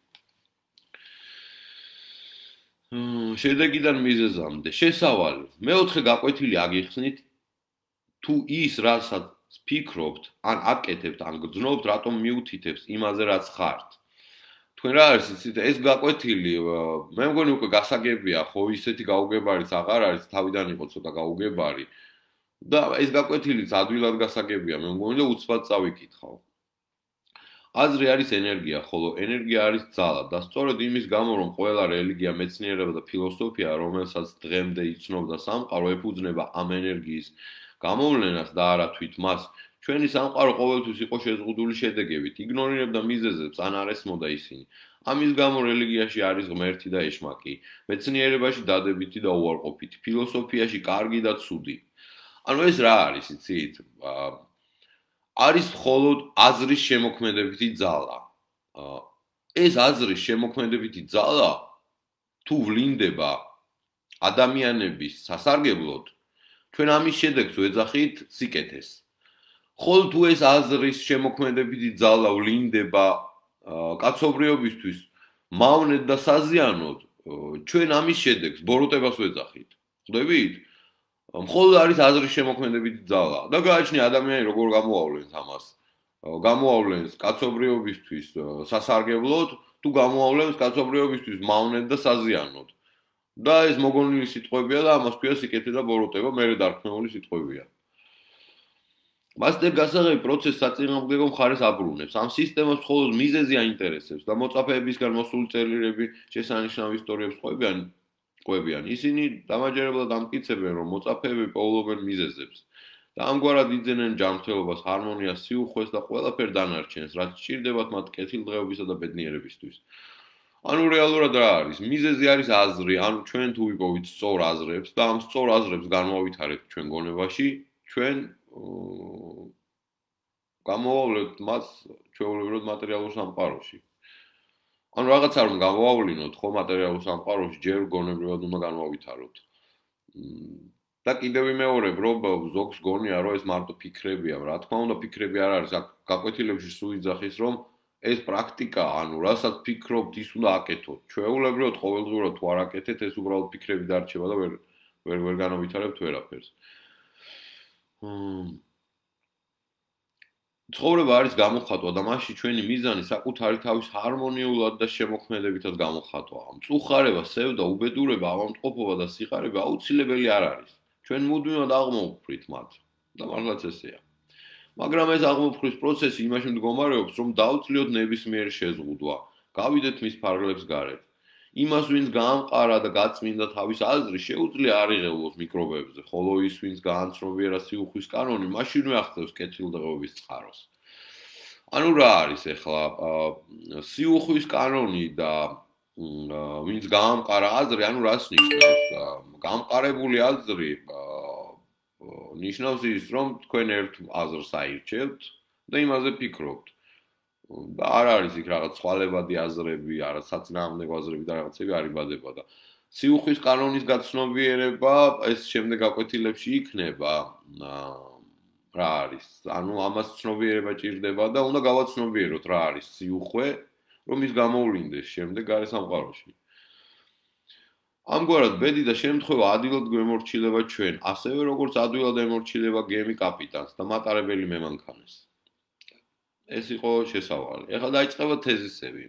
შედეგიდან მიზეზამდე. შესავალი. მეოთხე გაკვეთილი აგიხსნით თუ ის, რასაც ფიქრობთ, ან აკეთებთ, ან გრძნობთ, რატომ მიუთითებს იმაზე, რაც ხართ. თქვენ რა არის იცით, ეს გაკვეთილი, მე მგონი უკვე გასაგებია, ხო ისეთი გაუგებარიც აღარ არის, თავიდან იყო ცოტა გაუგებარი. და ეს გაკვეთილიც ადვილად გასაგებია, მე მგონი და უცბად წავიკითხავ. აზრი არის ენერგია, ხოლო ენერგია არის ძალა და სწორედ იმის გამო, რომ ყველა რელიგია, მეცნიერება და ფილოსოფია, რომელსაც დღემდე იცნობდა სამყარო, ეფუძნება ამ ენერგიის გამოვლენას და არა თვით მას, ჩვენი სამყარო ყოველთვის იყო შეზღუდული შედეგებით, იგნორირებდა მიზეზებს ან არ ესმოდა ისინი. ამის გამო რელიგიაში არის ღმერთი და ეშმაკი, მეცნიერებაში დადებითი და უარყოფითი, ფილოსოფიაში კარგი და ცუდი. ანუ ეს რა არის, იცით? არის მხოლოდ აზრის შემოქმედებითი ძალა. ეს აზრის შემოქმედებითი ძალა თუ ვლინდება ადამიანების სასარგებლოდ, ჩვენ ამის შედეგს ვეძახით სიკეთეს. ხოლო თუ ეს აზრის შემოქმედებითი ძალა ვლინდება კაცობრიობისთვის მავნედ და საზიანოდ, ჩვენ ამის შედეგს ბოროტებას ვეძახით. ხვდებით? მხოლოდ არის აზრის შემოქმედებითი ძალა და გააჩნია ადამიანი როგორ გამოავლენს ამას. გამოავლენს კაცობრიობისთვის სასარგებლოდ, თუ გამოავლენს კაცობრიობისთვის მავნედ და საზიანოდ. და ეს მოგონილი სიტყვებია და ამას ქვია სიკეთე და ბოროტება, მერე დარქმეული სიტყვებია. მასტერ გასაღები პროცესს საწინააღმდეგო მხარეს აბრუნებს. ამ სისტემას მხოლოდ მიზეზი აინტერესებს და მოწაფეებისგან მოსული წერილები შესანიშნავ ისტორიებს ყვებიან. ისინი დამაჯერებლად ამტკიცებენ, რომ მოწაფეები პოულობენ მიზეზებს და ამგვარად იძენენ ჯანმრთელობას, ჰარმონიას, სიუხვეს და ყველაფერ დანარჩენს, რაც სჭირდებათ მათ კეთილდღეობისა და ბედნიერებისთვის. ანუ რეალურად რა არის? მიზეზი არის აზრი, ანუ ჩვენ თუ ვიპოვით სწორ აზრებს და ამ სწორ აზრებს განვავითარებთ ჩვენ გონებაში, ჩვენ გამოვავლებთ მას ჩვეულებრივად მატერიალურ სამყაროში. ანუ რაღაცა რომ გამოვავლინოთ ხო მატერიალურ სამყაროში, ჯერ გონებრივად უნდა განვავითაროთ. და კიდევ ვიმეორებ, რომ ზოგს გონია, რომ ეს მარტო ფიქრებია, რა თქმა უნდა ფიქრები არ არის, აქ გაკვეთილებში სულ იძახის, რომ ეს პრაქტიკა, ანუ რასაც ფიქრობთ, ის უნდა აკეთოთ. ჩვეულებრივად ყოველდღიურად თუ არ აკეთეთ, ეს უბრალოდ ფიქრები დარჩება და ვერ განავითარებთ ვერაფერს. ცხოვრება არის გამოხატვა და მასში ჩვენი მიზანი საკუთარი თავის ჰარმონიულად და შემოქმედებითად გამოხატვა. მწუხარება, სევდა, უბედურება, ავადმყოფობა და სიყარიბე აუცილებელი არ არის. ჩვენ მუდმივად აღმოვფრით მათ და მართლაც ესეა. მაგრამ ეს აღმოფხვის პროცესი იმაში მდგომარეობს, რომ დავწლიოთ ნებისმიერი შეზღუდვა, გავიდეთ მის ფარგლებს გარეთ. იმას, ვინც გაამყარა და გაწმინდა თავის აზრი, შეუძლია არ იღელოს მიკრობებზე, ხოლო ის, ვინც გაანცნობიერა სიუხვის კანონი, მაშინვე აღწევს კეთილდღეობის წყაროს. ანუ რა არის ახლა სიუხვის კანონი და ვინც გაამყარა აზრი, ანუ რას ნიშნავს? გამყარებული აზრი ნიშნავს ის, რომ თქვენ ერთ აზრს აირჩევთ და იმაზე ფიქრობთ. და არ არის იქ რაღაც ცვალებადი აზრები, არა საწინააღმდეგო აზრები და რაღაცები არ იბადება და სიუხვის კანონის გაცნობიერება ეს შემდეგ გაკვეთილებში იქნება. რა არის? ანუ ამას ცნობიერება ჭირდება და უნდა გავაცნობიეროთ რა არის სიუხვე, რომ ის გამოვლინდეს შემდეგ გარე სამყაროში. ამგვარად ბედი და შემთხვევა ადვილად გვემორჩილება ჩვენ, ასევე როგორც ადვილად ემორჩილება გემი კაპიტანს და მატარებელი მემანქანეს. ეს იყო შესავალი. ეხლა დაიწყება თეზისები.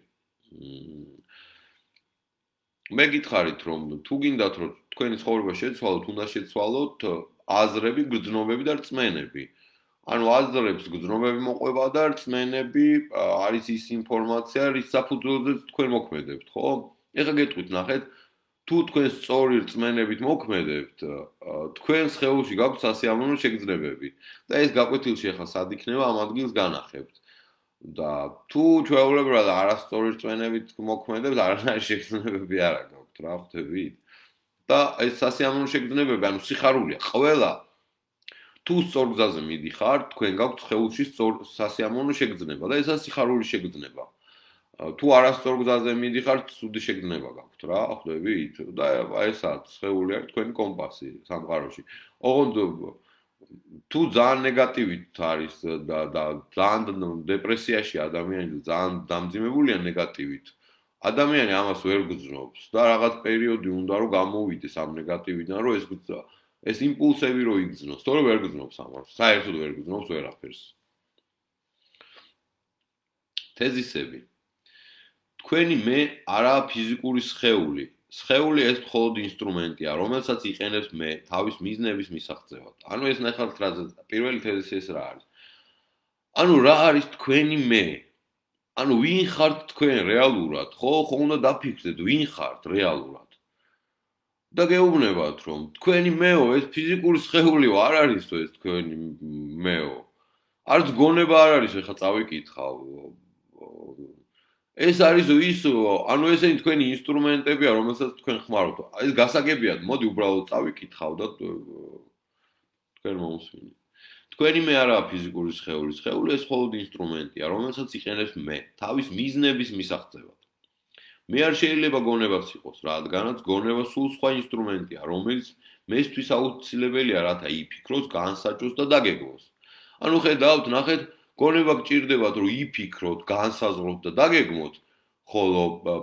მე გითხარით, რომ თუ გინდათ, რომ თქვენი ცხოვრება შეცვალოთ, უნდა შეცვალოთ აზრები, გრძნობები და რწმენები. ანუ აზრებს გრძნობები მოყვება და რწმენები არის ის ინფორმაცია, რის საფუძველზეც თქვენ მოქმედებთ, ხო? ეხლა გეტყვით, ნახეთ, თუ თქვენ სწორი რწმენებით მოქმედებთ, თქვენ სხეულში გაქვთ სასიამოვნო შეგრძნებები და ეს გაკვეთილში ახლა სად იქნება, ამ ადგილს განახებთ. და თუ ჩვეულებრივად არასწორი რწმენებით მოქმედებთ, არანაირი შეგრძნებები არ გაქვთ, რა ხვდებით? და ეს სასიამოვნო შეგრძნებები, ანუ სიხარულია, ყველა თუ სწორ გზაზე მიდიხართ, თქვენ გაქვთ სხეულში სასიამოვნო შეგრძნება და ესაა სიხარული შეგრძნება. თუ არასწორ გზაზე მიდიხართ, ცუდი შეგრძნება გაქვთ, რა ხვდებით? და ესაა სხეული არის თქვენი კომპასი სამყაროში. ოღონდ თუ ძალიან ნეგატივით არის და ძალიან დეპრესიაში ადამიანი და ძალიან დამძიმებულია ნეგატივით, ადამიანი ამას ვერ გრძნობს და რაღაც პერიოდი უნდა რომ გამოვიდეს ამ ნეგატივიდან, რომ ეს ეს იმპულსები რო იგრძნოს, თორე ვერ გრძნობს ამას, საერთოდ ვერ გრძნობს ვერაფერს. თეზისები. თქვენი მე არაა ფიზიკური სხეული. სხეული ეს მხოლოდ ინსტრუმენტია, რომელსაც იყენებს მე თავის მიზნების მისაღწევად. ანუ ეს ნახავთ რა პირველი თეზისი ეს რა არის. ანუ რა არის თქვენი მე? ანუ ვინ ხართ თქვენ რეალურად? ხო უნდა დაფიქრდეთ, ვინ ხართ რეალურად? და გეუბნებათ, რომ თქვენი მეო ეს ფიზიკური სხეულიო არ არისო ეს თქვენი მეო. არც გონება არ არის, ეხლა წავიკითხავ. ეს არის ისო, ანუ ესენი თქვენი ინსტრუმენტებია, რომელსაც თქვენ ხმარობთ. ეს გასაგებია, მოდი უბრალოდ წავიკითხავ და თქვენ მომსვინით. თქვენი მე არაა ფიზიკური სხეული, სხეული ეს მხოლოდ ინსტრუმენტია, რომელსაც იყენებს მე თავის მიზნების მისაღწევად. მე არ შეიძლება გონებაც იყოს, რადგანაც გონება სულ სხვა ინსტრუმენტია, რომელიც მესთვის აუცილებელია, რათა იფიქროს, განსაჭოს და დაგეგმოს. ანუ ხედავთ, ნახეთ, გონება გჭირდებათ, რომ იფიქროთ, განსაზღვროთ და დაგეგმოთ, ხოლო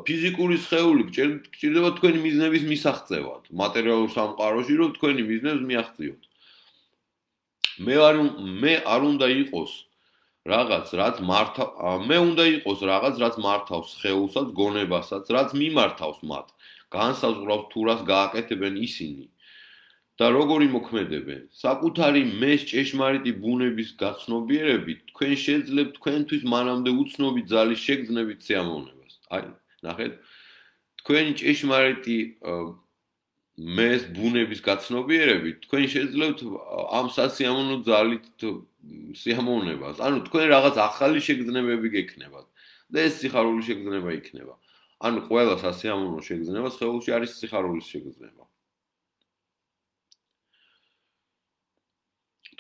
ფიზიკური სხეული გჭირდება თქვენი მიზნების მისაღწევად, მატერიალურ სამყაროში, რომ თქვენი მიზნებს მიაღწიოთ. მე არ უნდა იყოს რაღაც, რაც მართავს სხეულსაც, გონებასაც, რაც მიმართავს მათ, განსაზღვრავს თუ რას გააკეთებენ ისინი და როგორ იმოქმედებენ. საკუთარი მეს ჭეშმარიტი ბუნების გაცნობიერებით, თქვენ შეძლებთ თქვენთვის მანამდე უცნობი ძალის შეგრძნებით სიამოვნებას. აი, ნახეთ, თქვენი ჭეშმარიტი მეს ბუნების გაცნობიერებით, თქვენ შეძლებთ ამ სასიამოვნო ძალით სიამოვნებას. ანუ თქვენ რაღაც ახალი შეგრძნებები გექნებათ და ეს სიხარულის შეგრძნება იქნება. ანუ ყველა სასიამოვნო შეგრძნება სხეულში არის სიხარულის შეგრძნება.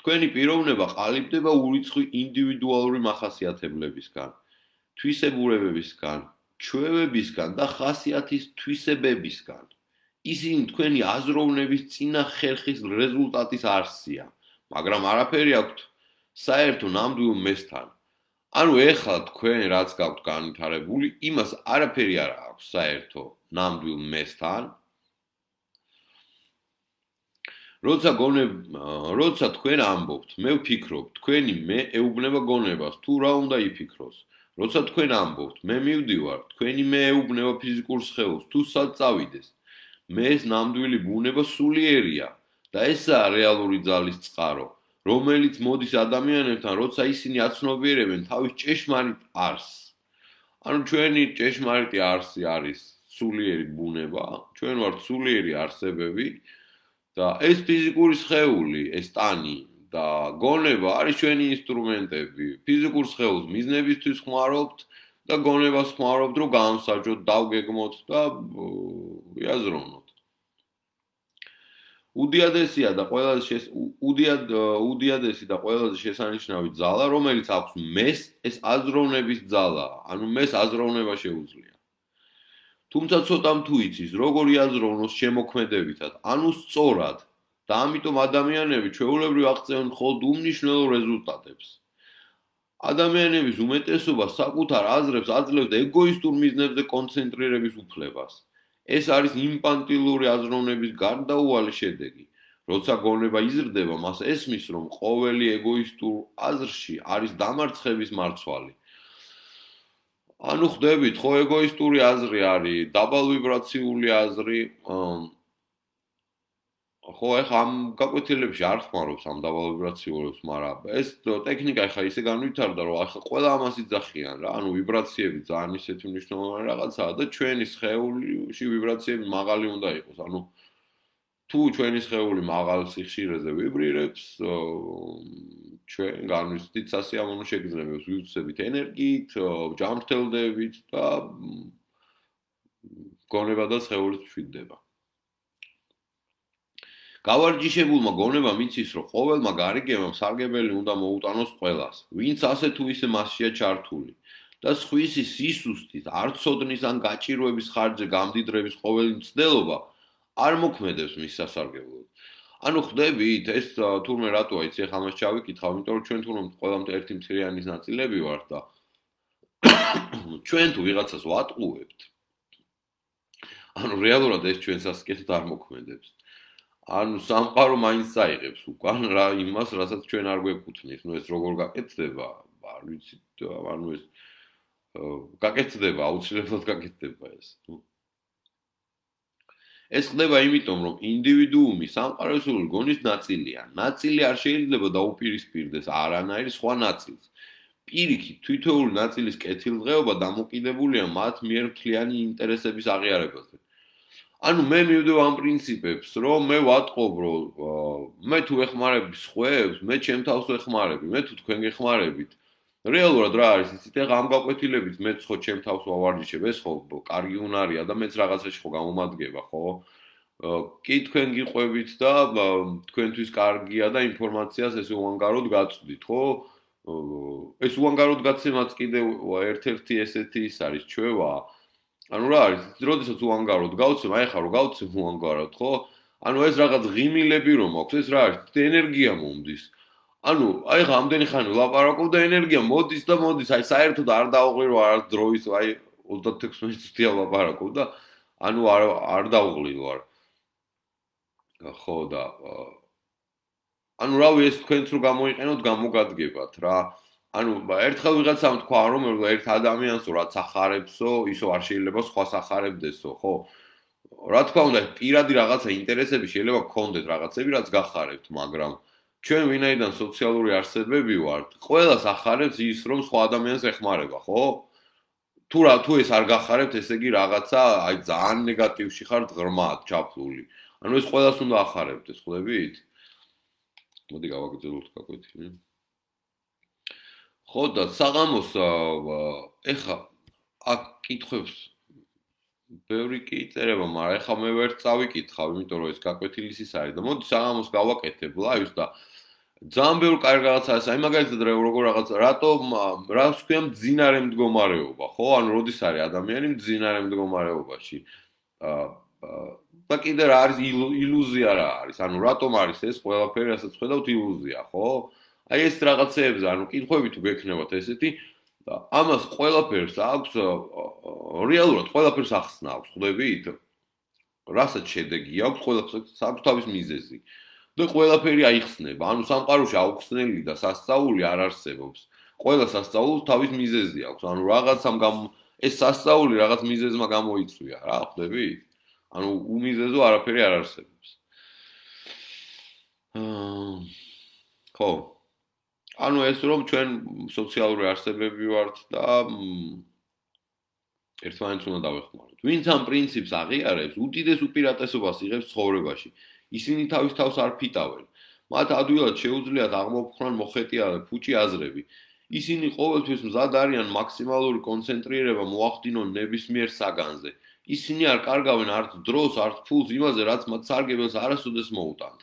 თქვენი პიროვნება ყალიბდება ურიცხვი ინდივიდუალური მახასიათებლებისგან, თვისებურებებისგან, ჩვევებისგან და ხასიათის თვისებებისგან. ისინი თქვენი აზროვნების წინა ხერხის რეზულტატის არსია, მაგრამ არაფერი აქვთ საერთო ნამდვილ მესთან. ანუ ეხლა თქვენ რაც გაქვთ განვითარებული, იმას არაფერი არ აქვს საერთო ნამდვილ მესთან. როცა თქვენ ამბობთ, მე ვფიქრობ, თქვენი მე ეუბნება გონებას, თუ რა უნდა იფიქროს. როცა თქვენ ამბობთ, მე მივდივარ, თქვენი მე ეუბნება ფიზიკურ სხეულს, თუ სად წავიდეს. მეს ნამდვილი ბუნება სულიერია და ესაა რეალური ძალის წყარო, რომელიც მოდის ადამიანებთან, როცა ისინი აცნობიერებენ თავის ჭეშმარიტ არსს. ანუ ჩვენი ჭეშმარიტი არსი არის სულიერი ბუნება, ჩვენ ვართ სულიერი არსებები და ეს ფიზიკური სხეული, ეს ტანი და გონება არის ჩვენი ინსტრუმენტები. ფიზიკურ სხეულს მიზნებისთვის ხმარობთ და გონებას ხმარობთ, რომ განსაჭოთ, დავგეგმოთ და იაზროვნოთ. უდიადესი და ყველაზე შესანიშნავი ძალა, რომელიც აქვს მეს, ეს აზროვნების ძალაა, ანუ მეს აზროვნება შეუძლია. თუმცა ცოტამ თუ იცის, როგორ იაზროვნოს შემოქმედებითად, ანუ სწორად, და ამიტომ ადამიანები ჩვეულებრივ აღწევენ მხოლოდ უმნიშვნელო რეზულტატებს. ადამიანების უმეტესობა საკუთარ აზრებს აძლევს ეგოისტურ მიზნებზე კონცენტრირების უფლებას. ეს არის ინფანტილური აზროვნების გარდაუვალი შედეგი. როცა გონება იზრდება, მას ესმის, რომ ყოველი ეგოისტურ აზრში არის დამარცხების მარცვალი. ანუ ხვდებით, ხო ეგოისტური აზრი არის, დაბალვიბრაციული აზრი, ხო ეხა ამ გაკვეთილებში არ ხმარობს ამ დაბალვიბრაციულებს, მაგრამ ეს ტექნიკა ეხა ისე განვითარდა, რომ ახლა ყველა ამას იძახიან რა, ანუ ვიბრაციები ძალიან ისეთი მნიშვნელოვანი რაღაცაა და ჩვენი სხეულში ვიბრაციები მაღალი უნდა იყოს, ანუ თუ ჩვენი სხეული მაღალ სიხშირეზე ვიბრირებს, ჩვენ განვიცდით სასიამოვნო შეგრძნებებს, ვივცებით ენერგიით, ჯანმრთელდებით და გონება და სხეულიც მშვიდდება. გავარჯიშებულმა გონებამ იცის, რომ ყოველმა გარიგებამ სარგებელი უნდა მოუტანოს ყველას, ვინც ასე თუ ისე მასშია ჩართული და სხვისი სისუსტით, არცოდნის ან გაჭირვების ხარჯზე გამდიდრების ყოველი მცდელობა არ მოქმედებს მის სასარგებლოდ. ანუ ხვდებით, ეს თურმე რატოა იცი, ახლა ამას ჩავიკითხავ, იმიტომ რომ ჩვენ თურმე ყველამ ერთი მთლიანის ნაწილები ვართ და ჩვენ თუ ვიღაცას ვატყუებთ, ანუ რეალურად ეს ჩვენ სასიკეთოდ არ მოქმედებს. ანუ სამყარო მაინც წაიღებს უკან რა იმას, რასაც ჩვენ არ გვეკუთვნის. ეს როგორ გაკეთდება? არ ვიცი, ეს გაკეთდება, აუცილებლად გაკეთდება ეს. ეს ხდება იმიტომ, რომ ინდივიდუუმი სამყაროსული გონის ნაწილია. ნაწილი არ შეიძლება დაუპირისპირდეს არანაირ სხვა ნაწილს. პირიქით, თითოეული ნაწილის კეთილდღეობა დამოკიდებულია მათ მიერ მთლიანი ინტერესების აღიარებაზე. ანუ მე მივდივ ამ პრინციპებს, რომ მე ვატყობ, რომ მე თუ ეხმარები სხვებს, მე ჩემ თავს ვეხმარები, მე თუ თქვენ გეხმარებით. რეალურად რა არის, იცით, ახლა ამ გაკვეთილებით მეც ხო ჩემ თავს ვავარჯიშებ, ეს ხო კარგი უნარია და მეც რაღაცაში ხო გამომადგება, ხო? კი თქვენ გიყვებით და თქვენთვის კარგია და ინფორმაციას ეს უანგაროდ გაწვდით, ხო? ეს უანგაროდ გაცემაც კიდევ ერთ-ერთი ესეთი ის არის ჩვევა. ანუ რა არის, როდესაც უანგაროდ გავცემ, აი ხა რო გავცემ უანგაროდ, ხო? ანუ ეს რაღაც ღიმილები რომ აქვს, ეს რა არის, ენერგია მომდის. ანუ აი ხა ამდენი ხანი ვლაპარაკობ და ენერგია მოდის და მოდის, აი საერთოდ არ დავუღლირო არ დროის, აი 36 წუთია ვლაპარაკობ და ანუ არ დავუღლიო არ. ხო და ანუ რავი ეს თქვენც რო გამოიყენოთ, გამოგადგებათ რა. ანუ ერთხელ ვიღაცამ თქვა რომ ერთ ადამიანსო რაც ახარებსო, ისო არ შეიძლება სხვას ახარებდესო, ხო? რა თქმა უნდა, პირადი რაღაცა ინტერესები შეიძლება გქონდეთ რაღაცები, რაც გახარებთ, მაგრამ ჩვენ ვინაიდან სოციალური არსებები ვართ, ყველას ახარებს ის, რომ სხვა ადამიანს ეხმარება, ხო? თუ ეს არ გახარებთ, ესე იგი რაღაცა აი ძალიან ნეგატივში ხართ, ღრმად ჩაფლული. ანუ ეს ყველას უნდა ახარებდეს, ხვდებით? მოდი გავაგრძელოთ გაკვეთილი. ხო და საღამოს ეხა აქ კითხვებს ბევრი კი იწერება, მაგრამ ეხა მე ვერ წავიკითხავ, იმიტომ რომ ეს გაკვეთილის ის არის და მოდი საღამოს გავაკეთებ ლაივს და ძალიან ბევრი კარგი რაღაცაა, აი მაგალითად როგორ რაღაცა, რატომ რას ქვია მძინარე მდგომარეობა, ხო? ანუ როდის არის ადამიანი მძინარე მდგომარეობაში? და კიდე რა არის ილუზია რა არის? ანუ რატომ არის ეს ყველაფერი, რასაც ხედავთ ილუზია, ხო? აი ეს რაღაცეებზე, ანუ კითხვები თუ გექნებათ ესეთი და ამას ყველაფერს აქვს რეალურად ყველაფერს ახსნა აქვს, ხვდებით? რასაც შედეგი აქვს, ყველაფერს აქვს თავის მიზეზი. და ყველაფერი აიხსნება, ანუ სამყაროში აუხსნელი და სასწაული არ არსებობს. ყველა სასწაულს თავის მიზეზი აქვს, ანუ რაღაცამ ეს სასწაული რაღაც მიზეზმა გამოიწვია, რა ხვდებით? ანუ უმიზეზო არაფერი არ არსებობს. ხო. ანუ ეს რომ ჩვენ სოციალური არსებები ვართ და ერთმანეთს უნდა დავეხმაროთ. ვინც ამ პრინციპს აღიარებს, უდიდეს უპირატესობას იღებს ცხოვრებაში. ისინი თავის თავს არ ფიტავენ. მათ ადვილად შეუძლიათ აღმოფხრან მოხეტიალე ფუჭი აზრები. ისინი ყოველთვის მზად არიან მაქსიმალური კონცენტრირება მოახდინონ ნებისმიერ საგანზე. ისინი არ კარგავენ არც დროს, არც ფულს იმაზე, რაც მათ სარგებელს არასოდეს მოუტანთ.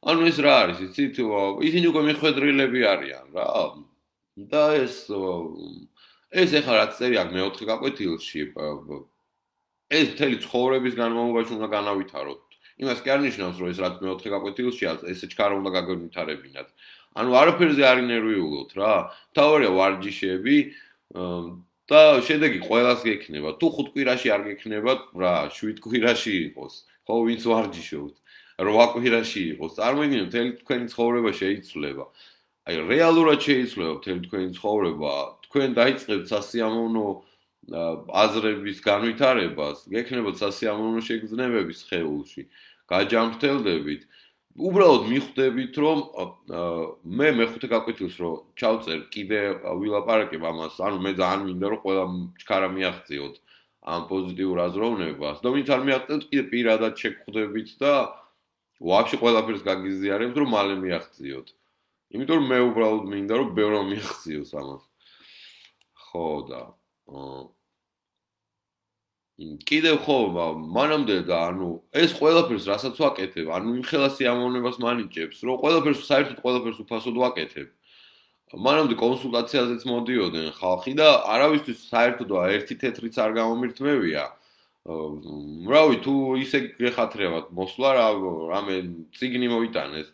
ანუ ეს რა არის, იცით? ისინი უკვე მიხვედრილები არიან, რა. და ეს ეხლა რაც წერი აქ მეოთხე გაკვეთილში, ეს მთელი ცხოვრების განმავლობაში უნდა განავითაროთ. იმას კი არ ნიშნავს, რომ ეს რაც მეოთხე გაკვეთილში ესე ჩქარა უნდა გაგვითარებინათ. ანუ არაფერზე არ ინერვიულოთ რა. თავარია ვარჯიშები და შედეგი ყველას გექნება. თუ 5 კვირაში არ გექნებათ, რა, 7 კვირაში იყოს. ხო, ვინც ვარჯიშობთ. 8 კვირაში იყოს. წარმოიდგინეთ, მთელი თქვენი ცხოვრება შეიცვლება. აი, რეალურად შეიცვლება მთელი თქვენი ცხოვრება. თქვენ დაიწყებთ სასიამოვნო აზრების განვითარებას, გექნებათ სასიამოვნო შეგრძნებები სხეულში, გაჯამრთელდებით. უბრალოდ მიხვდებით, რომ მე მეხუთე გაკვეთილს რომ ჩავწერ, კიდე ვილაპარაკებ ამას, ანუ მე ძალიან მინდა რომ ყველა ჩქარა მიაღწიოთ ამ პოზიტიურ აზროვნებას და ვინც არ მიაღწევთ, კიდე პირადად შეგხვდებით და ვაფშე ყველაფერს გაგიზიარებთ, რომ მალე მიაღწიოთ. იმიტომ რომ მე უბრალოდ მინდა რომ ბევრმა მიაღწიოს ამას. ხო და კიდევ ხო, მანამდე და ანუ ეს ყველაფერს რასაც ვაკეთებ, ანუ იმ ხელა სიამოვნებას მანიჭებს, რომ საერთოდ ყველაფერს უფასოდ ვაკეთებ. მანამდე კონსულტაციაზეც მოდიოდნენ ხალხი და არავისთვის საერთოდ ერთი თეთრიც არ გამომირთმევია. რავი, თუ ისე გეხათრებათ მოსვლა, რამე წიგნი მოიტანეთ,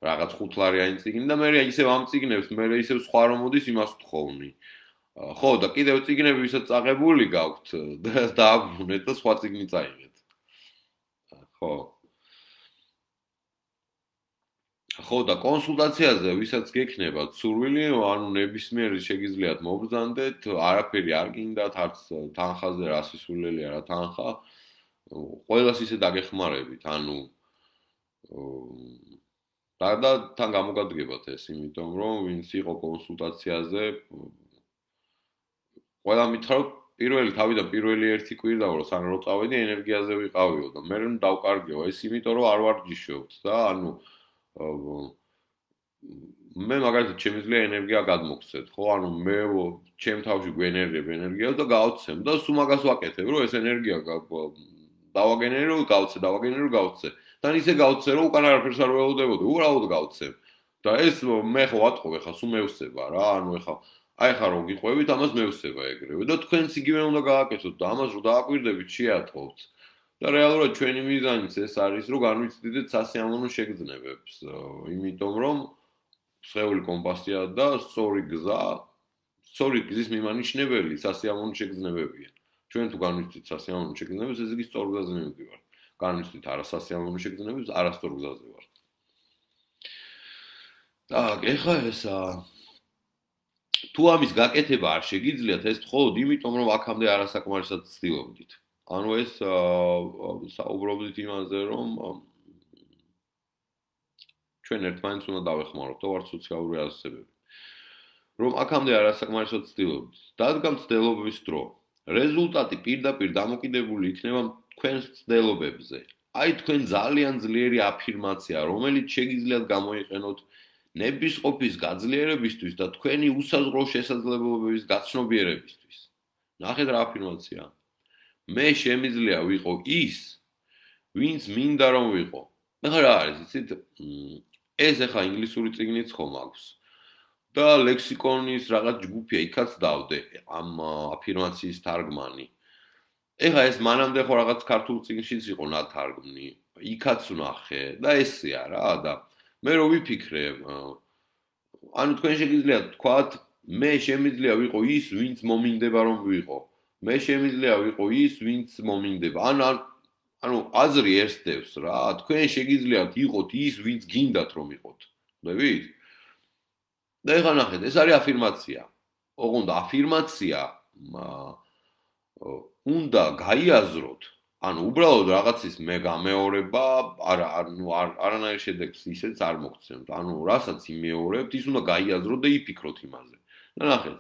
რაღაც 5 ლარიანი წიგნი და მე ისევ ამ წიგნებს, მე ისევ სხვა რომ მოდის იმას ვთხოვნი. ხო და კიდევ წიგნები ვისაც წაღებული გაქვთ და დააბრუნეთ და სხვა წიგნი წაიღეთ. ხო. ხო და კონსულტაციაზე ვისაც გექნებათ სურვილი, ანუ ნებისმიერი შეგიძლიათ მობრძანდეთ, არაფერი არ გინდათ, არც თანხაზე რა სისულელია რა თანხა. ყველას ისე დაგეხმარებით, ანუ და თან გამოგადგებათ ეს, იმიტომ რომ ვინც იყო კონსულტაციაზე, ყველა მითხრა რომ პირველი ერთი კვირა რომ სანამ რო წავედი ენერგიაზე ვიყავიო და მე რომ დავკარგეო ეს იმიტომ რომ არ ვარჯიშობთ და ანუ მე მაგალითად შემიძლია ენერგია გადმოგცეთ, ხო? ანუ მე ჩემ თავში გვენერგებ ენერგიას და გავცემ და სულ მაგას ვაკეთებ, რომ ეს ენერგია დავაგენერო, გავცე. თან ისე გავცე, რომ უკან არაფერს არ ველოდებოდი, უბრალოდ გავცემ. და ეს მე ხო ვატყობ, ხა სულ მევსება რა, ანუ ხა რომ გიყვებით, ამას მევსება ეგრევე და თქვენც იგივე უნდა გააკეთოთ და ამას რომ დააკვირდებით, შეატყობთ. და რეალურად ჩვენი მიზანიც ეს არის, რომ განვიცდიდეთ სასიამოვნო შეგრძნებებს, იმიტომ რომ სხეული კომპასია და სწორი გზის მიმანიშნებელი სასიამოვნო შეგრძნებებია. ჩვენ თუ განვიცდით სასიამოვნო შეგრძნებებს, ეს იგი სწორ გზაზე მივდივართ. განვიცდით არასასიამოვნო შეგრძნებებს, არასწორ გზაზე ვართ. Так, ეხლა ესა თუ ამის გაკეთება არ შეგიძლიათ, ეს მხოლოდ იმიტომ, რომ აქამდე არასაკმარისად ცდილობდით. ანუ ეს საუბრობდით იმაზე, რომ ჩვენ ერთმანეთს უნდა დავეხმაროთ, ვართ სოციალური ასოციაციები. რომ აქამდე არასაკმარისად ცდილობდით. დადგა მცდელობების დრო. რეზულტატი პირდაპირ დამოკიდებული იქნება თქვენს მცდელობებზე. აი თქვენ ძალიან ძლიერი აფირმაცია, რომელიც შეგიძლიათ გამოიყენოთ ნებისყოფის გაძლიერებისთვის და თქვენი უსაზღვრო შესაძლებლობების გაცნობიერებისთვის. ნახეთ რა აფირმაცია. მე შემიძლია ვიყო ის, ვინც მინდა რომ ვიყო. ეხლა რა არის, იცით? ეს ეხლა ინგლისური წიგნიც ხომ აქვს. და ლექსიკონის რაღაც ჯგუფია, იქაც დავდე ამ აფირმაციის თარგმანი. ეხლა ეს მანამდე ხო რაღაც ქართულ წიგნშიც იყო ნათარგმნი. იქაც ვნახე და ესეა რა და მე რო ვიფიქრე, ანუ თქვენ შეგიძლიათ თქვათ, მე შემიძლია ვიყო ის, ვინც მომინდება რომ ვიყო. მე შემიძლია ვიყო ის, ვინც მომინდება. ანუ აზრი ერთდევს რა, თქვენ შეგიძლიათ იყოთ ის, ვინც გინდათ რომ იყოთ. ხვდებით? და ეხლა ნახეთ, ეს არის აფირმაცია. ოღონდ აფირმაცია უნდა გაიაზროთ, ანუ უბრალოდ რაღაცის მე გამეორება, არანაირ შედეგს ისეც არ მოგცემთ. ანუ რასაც იმეორებთ, ის უნდა გაიაზროთ და იფიქროთ იმაზე. და ნახეთ,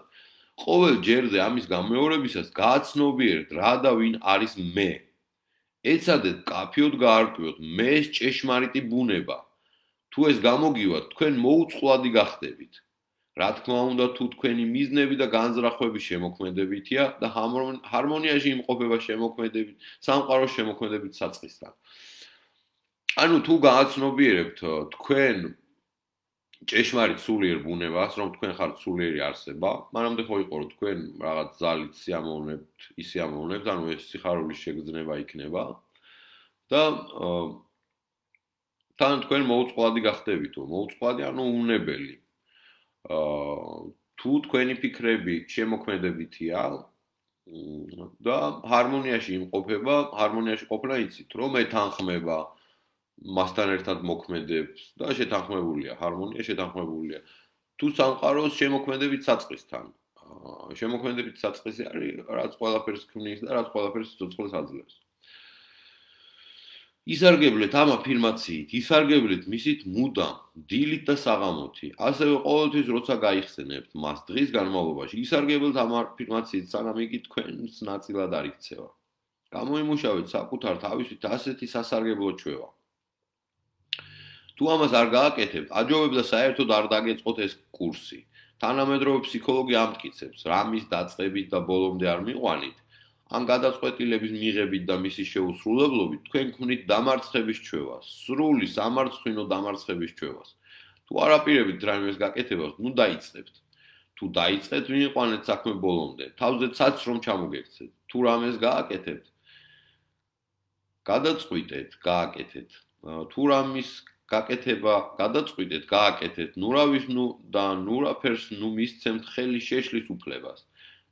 ყოველ ჯერზე ამის გამეორებისას გააცნობიერეთ რა და ვინ არის მე. ეცადეთ კაფიოდ გაარკვიოთ მეს ჭეშმარიტი ბუნება. თუ ეს გამოგივათ, თქვენ მოუწყვლადი გახდებით. რა თქმა უნდა, თუ თქვენი მიზნები და განზრახვები შემოქმედებითია და ჰარმონიაში იმყოფება შემოქმედებით, სამყაროს შემოქმედებით საწყისთან. ანუ თუ გააცნობიერებთ თქვენ ჭეშმარიტ სულიერ ბუნებას, რომ თქვენ ხართ სულიერი არსება, მანამდე ხო იყო რომ თქვენ რაღაც ძალით სიამოვნებთ, ანუ ეს სიხარულის შეგრძნება იქნება და თან თქვენ მოუწყვლადი გახდებითო, მოუწყვლადი ანუ უნებელი. თუ თქვენი ფიქრები შემოქმედებითია და ჰარმონიაში იმყოფება, ჰარმონიაში ყოფნა იცით, რომ ეთანხმება მასთან ერთად მოქმედებს და შეთანხმებულია, ჰარმონია შეთანხმებულია. თუ სამყაროს შემოქმედებით საწყისთან. შემოქმედებით საწყისი არის, რაც ყველაფერს ქმნის და რაც ყველაფერს სიცოცხლეს აძლევს. ისარგებლეთ ამ აფირმაციით, ისარგებლეთ მისით მუდამ, დილით და საღამოთი. ასევე ყოველთვის როცა გაიხსენებთ მას დღის განმავლობაში, ისარგებლეთ ამ აფირმაციით, სანამ იგი თქვენს ნაწილად არ იქცევა. გამოიმუშავეთ საკუთარ თავისით ასეთი სასარგებლო ჩვევა. თუ ამას არ გააკეთებთ, აჯობებდა საერთოდ არ დაგეწყოთ ეს კურსი. თანამედროვე ფსიქოლოგი ამტკიცებს, რამის დაწყებით და ბოლომდე არ მიყვანით, ამ გადაწყვეტილების მიღებით და მისი შეუსრულებლობით თქვენ ქმნით დამარცხების ჩვევას, სრული სამარცხვინო დამარცხების ჩვევას. თუ არაპირებით რაიმეს გაკეთებას, ნუ დაიწყებთ. თუ დაიწყეთ, მიიყვანეთ საქმე ბოლომდე, თავზე ცაც რომ ჩამოგექცეთ. თუ რამეს გააკეთებთ, გადაწყვიტეთ, გააკეთეთ. თუ რამის გაკეთება გადაწყვიტეთ, გააკეთეთ, ნურავის და ნურაფერს ნუ მისცემთ ხელი შეშლის უფლებას.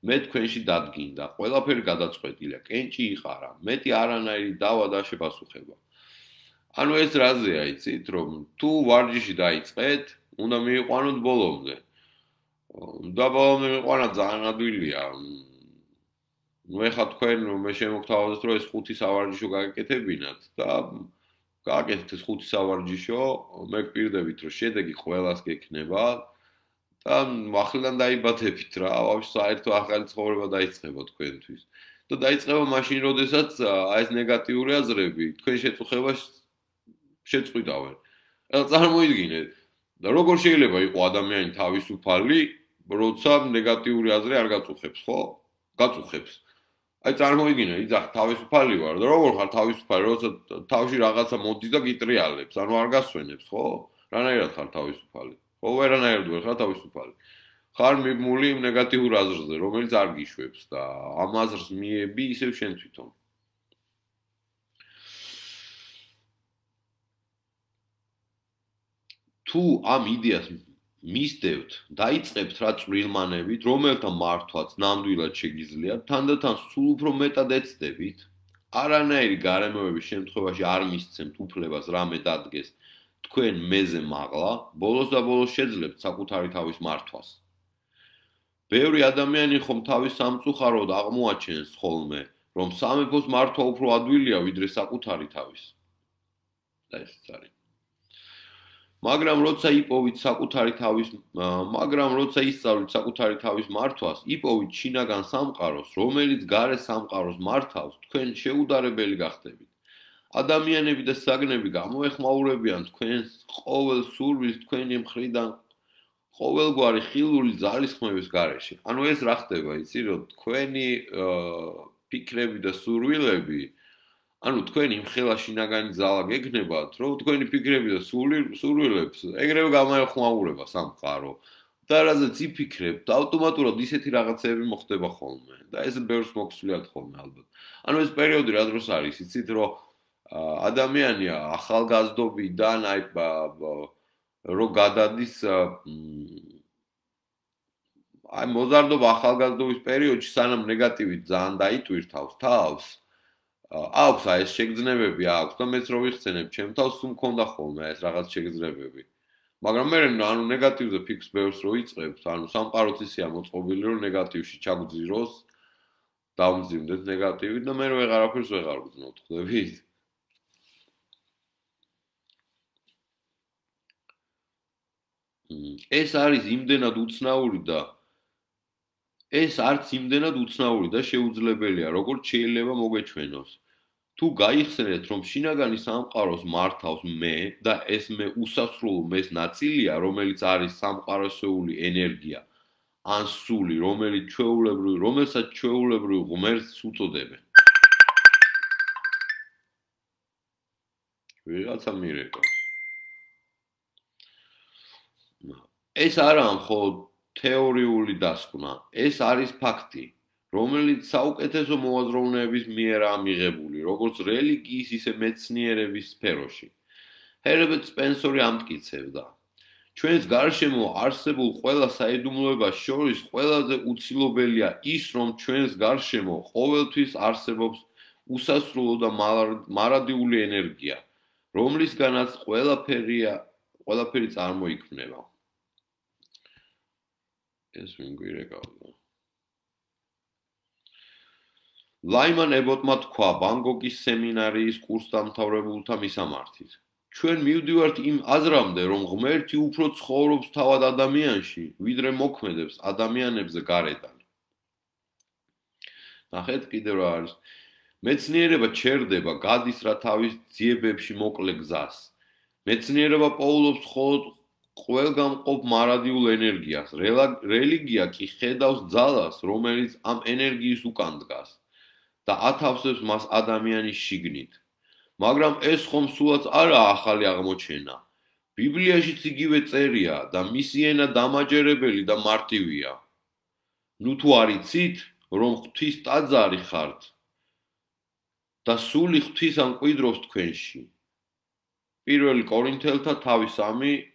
მე თქვენში დადგინდა, ყველაფერი გადაწყვეტილია, კენჭი იყარა, მეტი არანაირი დავა და შეპასუხება. ანუ ეს რაზეა, იცით, რომ თუ ვარჯიში დაიწყეთ, უნდა მიიყვანოთ ბოლომდე. და ბოლომდე მიყანა ძალიან ადვილია. ნუ ეხლა თქვენ მე შემოგთავაზოთ, რომ ეს 5 სავარჯიშო გაგეკეთებინათ და გააკეთეთ ეს 5 სავარჯიშო, მე გპირდებით, რომ შედეგი ყველას გექნება და ახლიდან დაიბათებით რა, ვაფშე საერთო ახალი ცხოვრება დაიწყება თქვენთვის. და დაიწყება მაშინ, როდესაც ეს ნეგატიური აზრები თქვენ შეწუხებას შეწყვიტავენ. ეხლა წარმოიდგინეთ, და როგორ შეიძლება იყოს ადამიანი თავისუფალი, როცა ნეგატიური აზრი არ გაწუხებს, ხო? გაწუხებს. აი წარმოიდგინე, იძახ თავისუფალი ვარ და როგორ ხარ თავისუფალი, როცა თავში რაღაცა მოდის და გიტრიალებს, ანუ არ გასვენებს, ხო? რანაირად ხარ თავისუფალი? ხო, ვერანაირად ვერ ხარ თავისუფალი. ხარ მიბმული იმ ნეგატიურ აზრზე, რომელიც არ გიშვებს და ამ აზრს მიები ისევ შენ თვითონ. თუ ამ იდეას მისდევთ, დაიწყებთ რა წვრილმანებით, რომელთა მართვაც ნამდვილად შეგიძლიათ, თანდათან სულ უფრო მეტად ეცდებით, არანაირი გარემოების შემთხვევაში არ მისცემთ უფლებას რამე დადგეს თქვენ მეზე მაღლა, ბოლოს და ბოლოს შეძლებთ საკუთარი თავის მართვას. ბევრი ადამიანი ხომ თავის სამწუხაროდ აღმოაჩენს ხოლმე, რომ სამეფოს მართვა უფრო ადვილია ვიდრე საკუთარი თავის. და ესეც არის. მაგრამ როცა ისწავლით საკუთარი თავის მართვას, იპოვით შინაგან სამყაროს, რომელიც გარე სამყაროს მართავს, თქვენ შეუდარებელი გახდებით. ადამიანები და საგნები გამოეხმაურებიან თქვენს ყოველ სურვილს თქვენი მხრიდან ყოველგვარი ხილული ძალისხმევის გარეშე. ანუ ეს რა ხდება, იცი, რომ თქვენი ფიქრები და სურვილები, ანუ თქვენი მხელა შინაგანი ძალა გექნებათ, რომ თქვენი ფიქრები და სურვილებს ეგრევე გამოეხმაურება სამყარო. და რაზეც იფიქრებთ, ავტომატურად ისეთი რაღაცები მოხდება ხოლმე. და ეს ბევრს მოგვსვლიათ ხოლმე ალბათ. ანუ ეს პერიოდი რა დროს არის, იცით, რომ ადამიანი ახალგაზრდობიდან აი რო გადადის აი მოზარდობა ახალგაზრდობის პერიოდში სანამ ნეგატივი ძალიან დაიტვირთავს თავს აქვს აი ეს შეგრძნებები აქვს და მეც რო ვიხსენებ ჩემ თავს სულ მქონდა ხოლმე ეს რაღაც შეგრძნებები მაგრამ მე ანუ ნეგატივზე ფიქს ბევრს რო იწყებს ანუ სამყაროც ისეა მოწყობილი რომ ნეგატივში ჩაგძიროს დავმძიმდეთ ნეგატივი და მე ვეღარაფერს ვეღარ ვგზნობ ხვდებით ეს არის იმდენად უცნაური და ეს არც იმდენად უცნაური და შეუძლებელია, როგორც შეიძლება მოგეჩვენოს. თუ გაიხსენეთ, რომ შინაგანი სამყაროს მართავს მე და ეს მე უსასრულო მეს ნაწილია, რომელიც არის სამყაროსეული ენერგია, ან სული, რომელსაც ჩვეულებრივ ღმერთს უწოდებენ. ვიღაცა მირეკავს. ეს არა მხოლოდ თეორიული დასკვნა, ეს არის ფაქტი, რომელიც საუკეთესო მოაზროვნეების მიერაა მიღებული, როგორც რელიგიის, ისე მეცნიერების სფეროში. ჰერბერტ სპენსერი ამტკიცებდა: ჩვენს გარშემო არსებულ ყველა საიდუმლოებას შორის ყველაზე უცილობელია ის, რომ ჩვენს გარშემო ყოველთვის არსებობს უსასრულო და მარადიული ენერგია, რომლისგანაც ყველაფერი წარმოიქმნება. ეს ვინ გვირეკავდა? ლაიმან ებოტმა თქვა ბანგკოკის სემინარიის კურსდამთავრებულთა მისამართით. ჩვენ მივდივართ იმ აზრამდე, რომ ღმერთი უფრო ცხოვრობს თავად ადამიანში, ვიდრე მოქმედებს ადამიანებზე გარედან. ნახეთ კიდევ რა არის. მეცნიერება ჩერდება, გადის რა თავის ძიებებში მოკლე გზას. მეცნიერება პოულობს მხოლოდ ყველგამყოფ მარადიულ ენერგიას. რელიგია კი ხედავს ძალას, რომელიც ამ ენერგიის უკან დგას და ათავსებს მას ადამიანის შიგნით. მაგრამ ეს ხომ სულაც არაა ახალი აღმოჩენა. ბიბლიაშიც იგივე წერია და მისი ენა დამაჯერებელი და მარტივია. ნუ თუ არ იცით, რომ ღვთის ტაძარი ხართ და სული ღვთის ამკვიდრობს თქვენში. 1 კორინთელთა თავი 3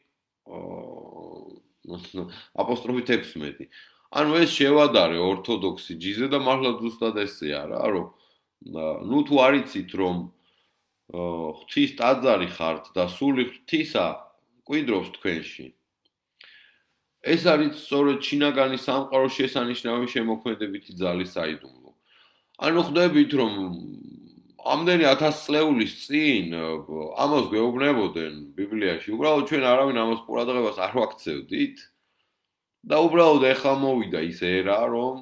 აპოსტროფით 16. ანუ ეს შევადარე ორთოდოქსი ჯიზე და მართლა ზუსტად ესეა რა, რომ ნუ თუ არ იცით, რომ ღვთის ტაძარი ხართ და სული ღვთისა კვიდრობს თქვენში. ეს არის სწორედ შინაგანი სამყაროს შესანიშნავი შემოქმედებითი ძალის საიდუმლო. ანუ ხვდებით, რომ ამდენი 1000 წლეულის წინ ამას გვეუბნებოდნენ ბიბლიაში, უბრალოდ ჩვენ არავინ ამას ყურადღებას არ ვაქცევდით და უბრალოდ ეხლა მოვიდა ის ერა, რომ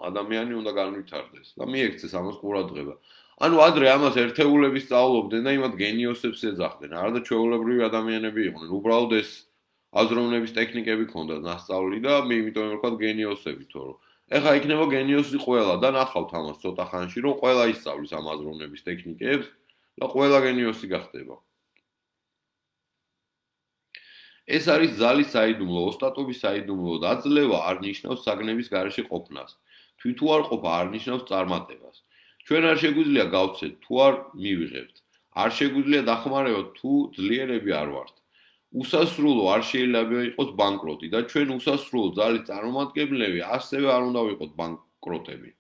ადამიანი უნდა განვითარდეს და მიექცეს ამას ყურადღება. ანუ ადრე ამას ერთეულები სწავლობდნენ და იმათ გენიოსებს ეძახდნენ, არა და ჩვეულებრივი ადამიანები იყვნენ. უბრალოდ ეს აზროვნების ტექნიკები ქონდათ ნასწავლი და იმიტომ ვთქვათ გენიოსები, თორემ ეხლა იქნება გენიოსი ყველა და ნახავთ ამას ცოტა ხანში, რომ ყველა ისწავლის ამ აზროვნების ტექნიკებს და ყველა გენიოსი გახდება. ეს არის ძალის საიდუმლო, ოსტატობის საიდუმლო და აძლევა არ ნიშნავს საგნების გარეშე ყოფნას. თვითუ არ ყოფა არ ნიშნავს წარმატებას. ჩვენ არ შეგვიძლია გავცეთ, თუ არ მივიღებთ. არ შეგვიძლია დახმარებათ, თუ ძლიერები არ ვართ. უსასრულო არ შეიძლება იყოს ბანკროტი და ჩვენ უსასრულო ძალის წარმომადგენლები ასევე არ უნდა ვიყოთ ბანკროტები.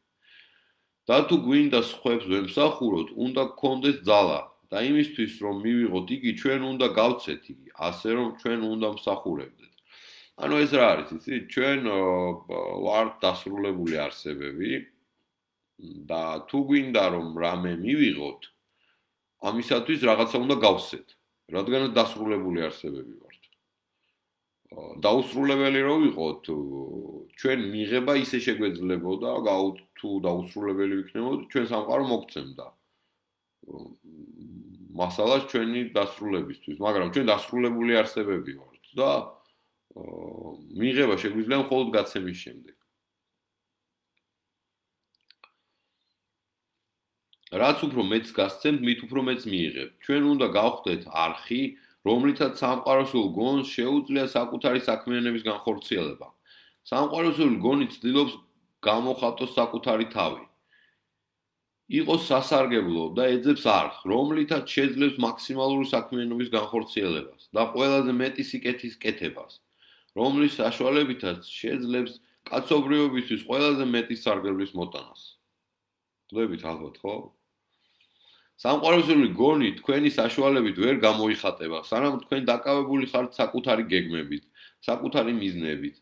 და თუ გვინდა სხვებს ვემსახუროთ, უნდა გქონდეს ძალა და იმისთვის რომ მივიღოთ იგი, ჩვენ უნდა გავცეთ იგი, ასე რომ ჩვენ უნდა მსახურებდეთ. ანუ ეს რა არის, იცით? ჩვენ ვართ დასრულებული არსებები და თუ გვინდა რომ რამე მივიღოთ, ამისათვის რაღაცა უნდა გავცეთ. რადგანაც დასრულებული არსებები ვართ. დაუსრულებელი რო ვიყოთ, ჩვენ მიღება ისე შეგვეძლებოდა, თუ დაუსრულებელი ვიქნებოდით, ჩვენ სამყარო მოგცემდა. მასალას ჩვენი დასრულებისთვის, მაგრამ ჩვენ დასრულებული არსებები ვართ და მიღება შეგვიძლია მხოლოდ გაცემის შემდეგ. რაც უფრო მეც გასცემთ, მით უფრო მეც მიიღებთ. ჩვენ უნდა გავხდეთ არხი, რომლითაც სამყაროსულ გონს შეუძლია საკუთარი საქმიანობის განხორციელება. სამყაროსული გონი ცდილობს გამოხატოს საკუთარი თავი. იყოს სასარგებლო და ეძებს არხს, რომლითაც შეძლებს მაქსიმალური საქმიანობის განხორციელებას და ყველაზე მეტი სიკეთის კეთებას, რომლის საშუალებითაც შეძლებს კაცობრიობისთვის ყველაზე მეტი სარგებლის მოტანას. ხვდებით ალბათ, ხო? სამყაროსული გონი თქვენი საშუალებით ვერ გამოიხატება, სანამ თქვენ დაკავებული ხართ საკუთარი გეგმებით, საკუთარი მიზნებით.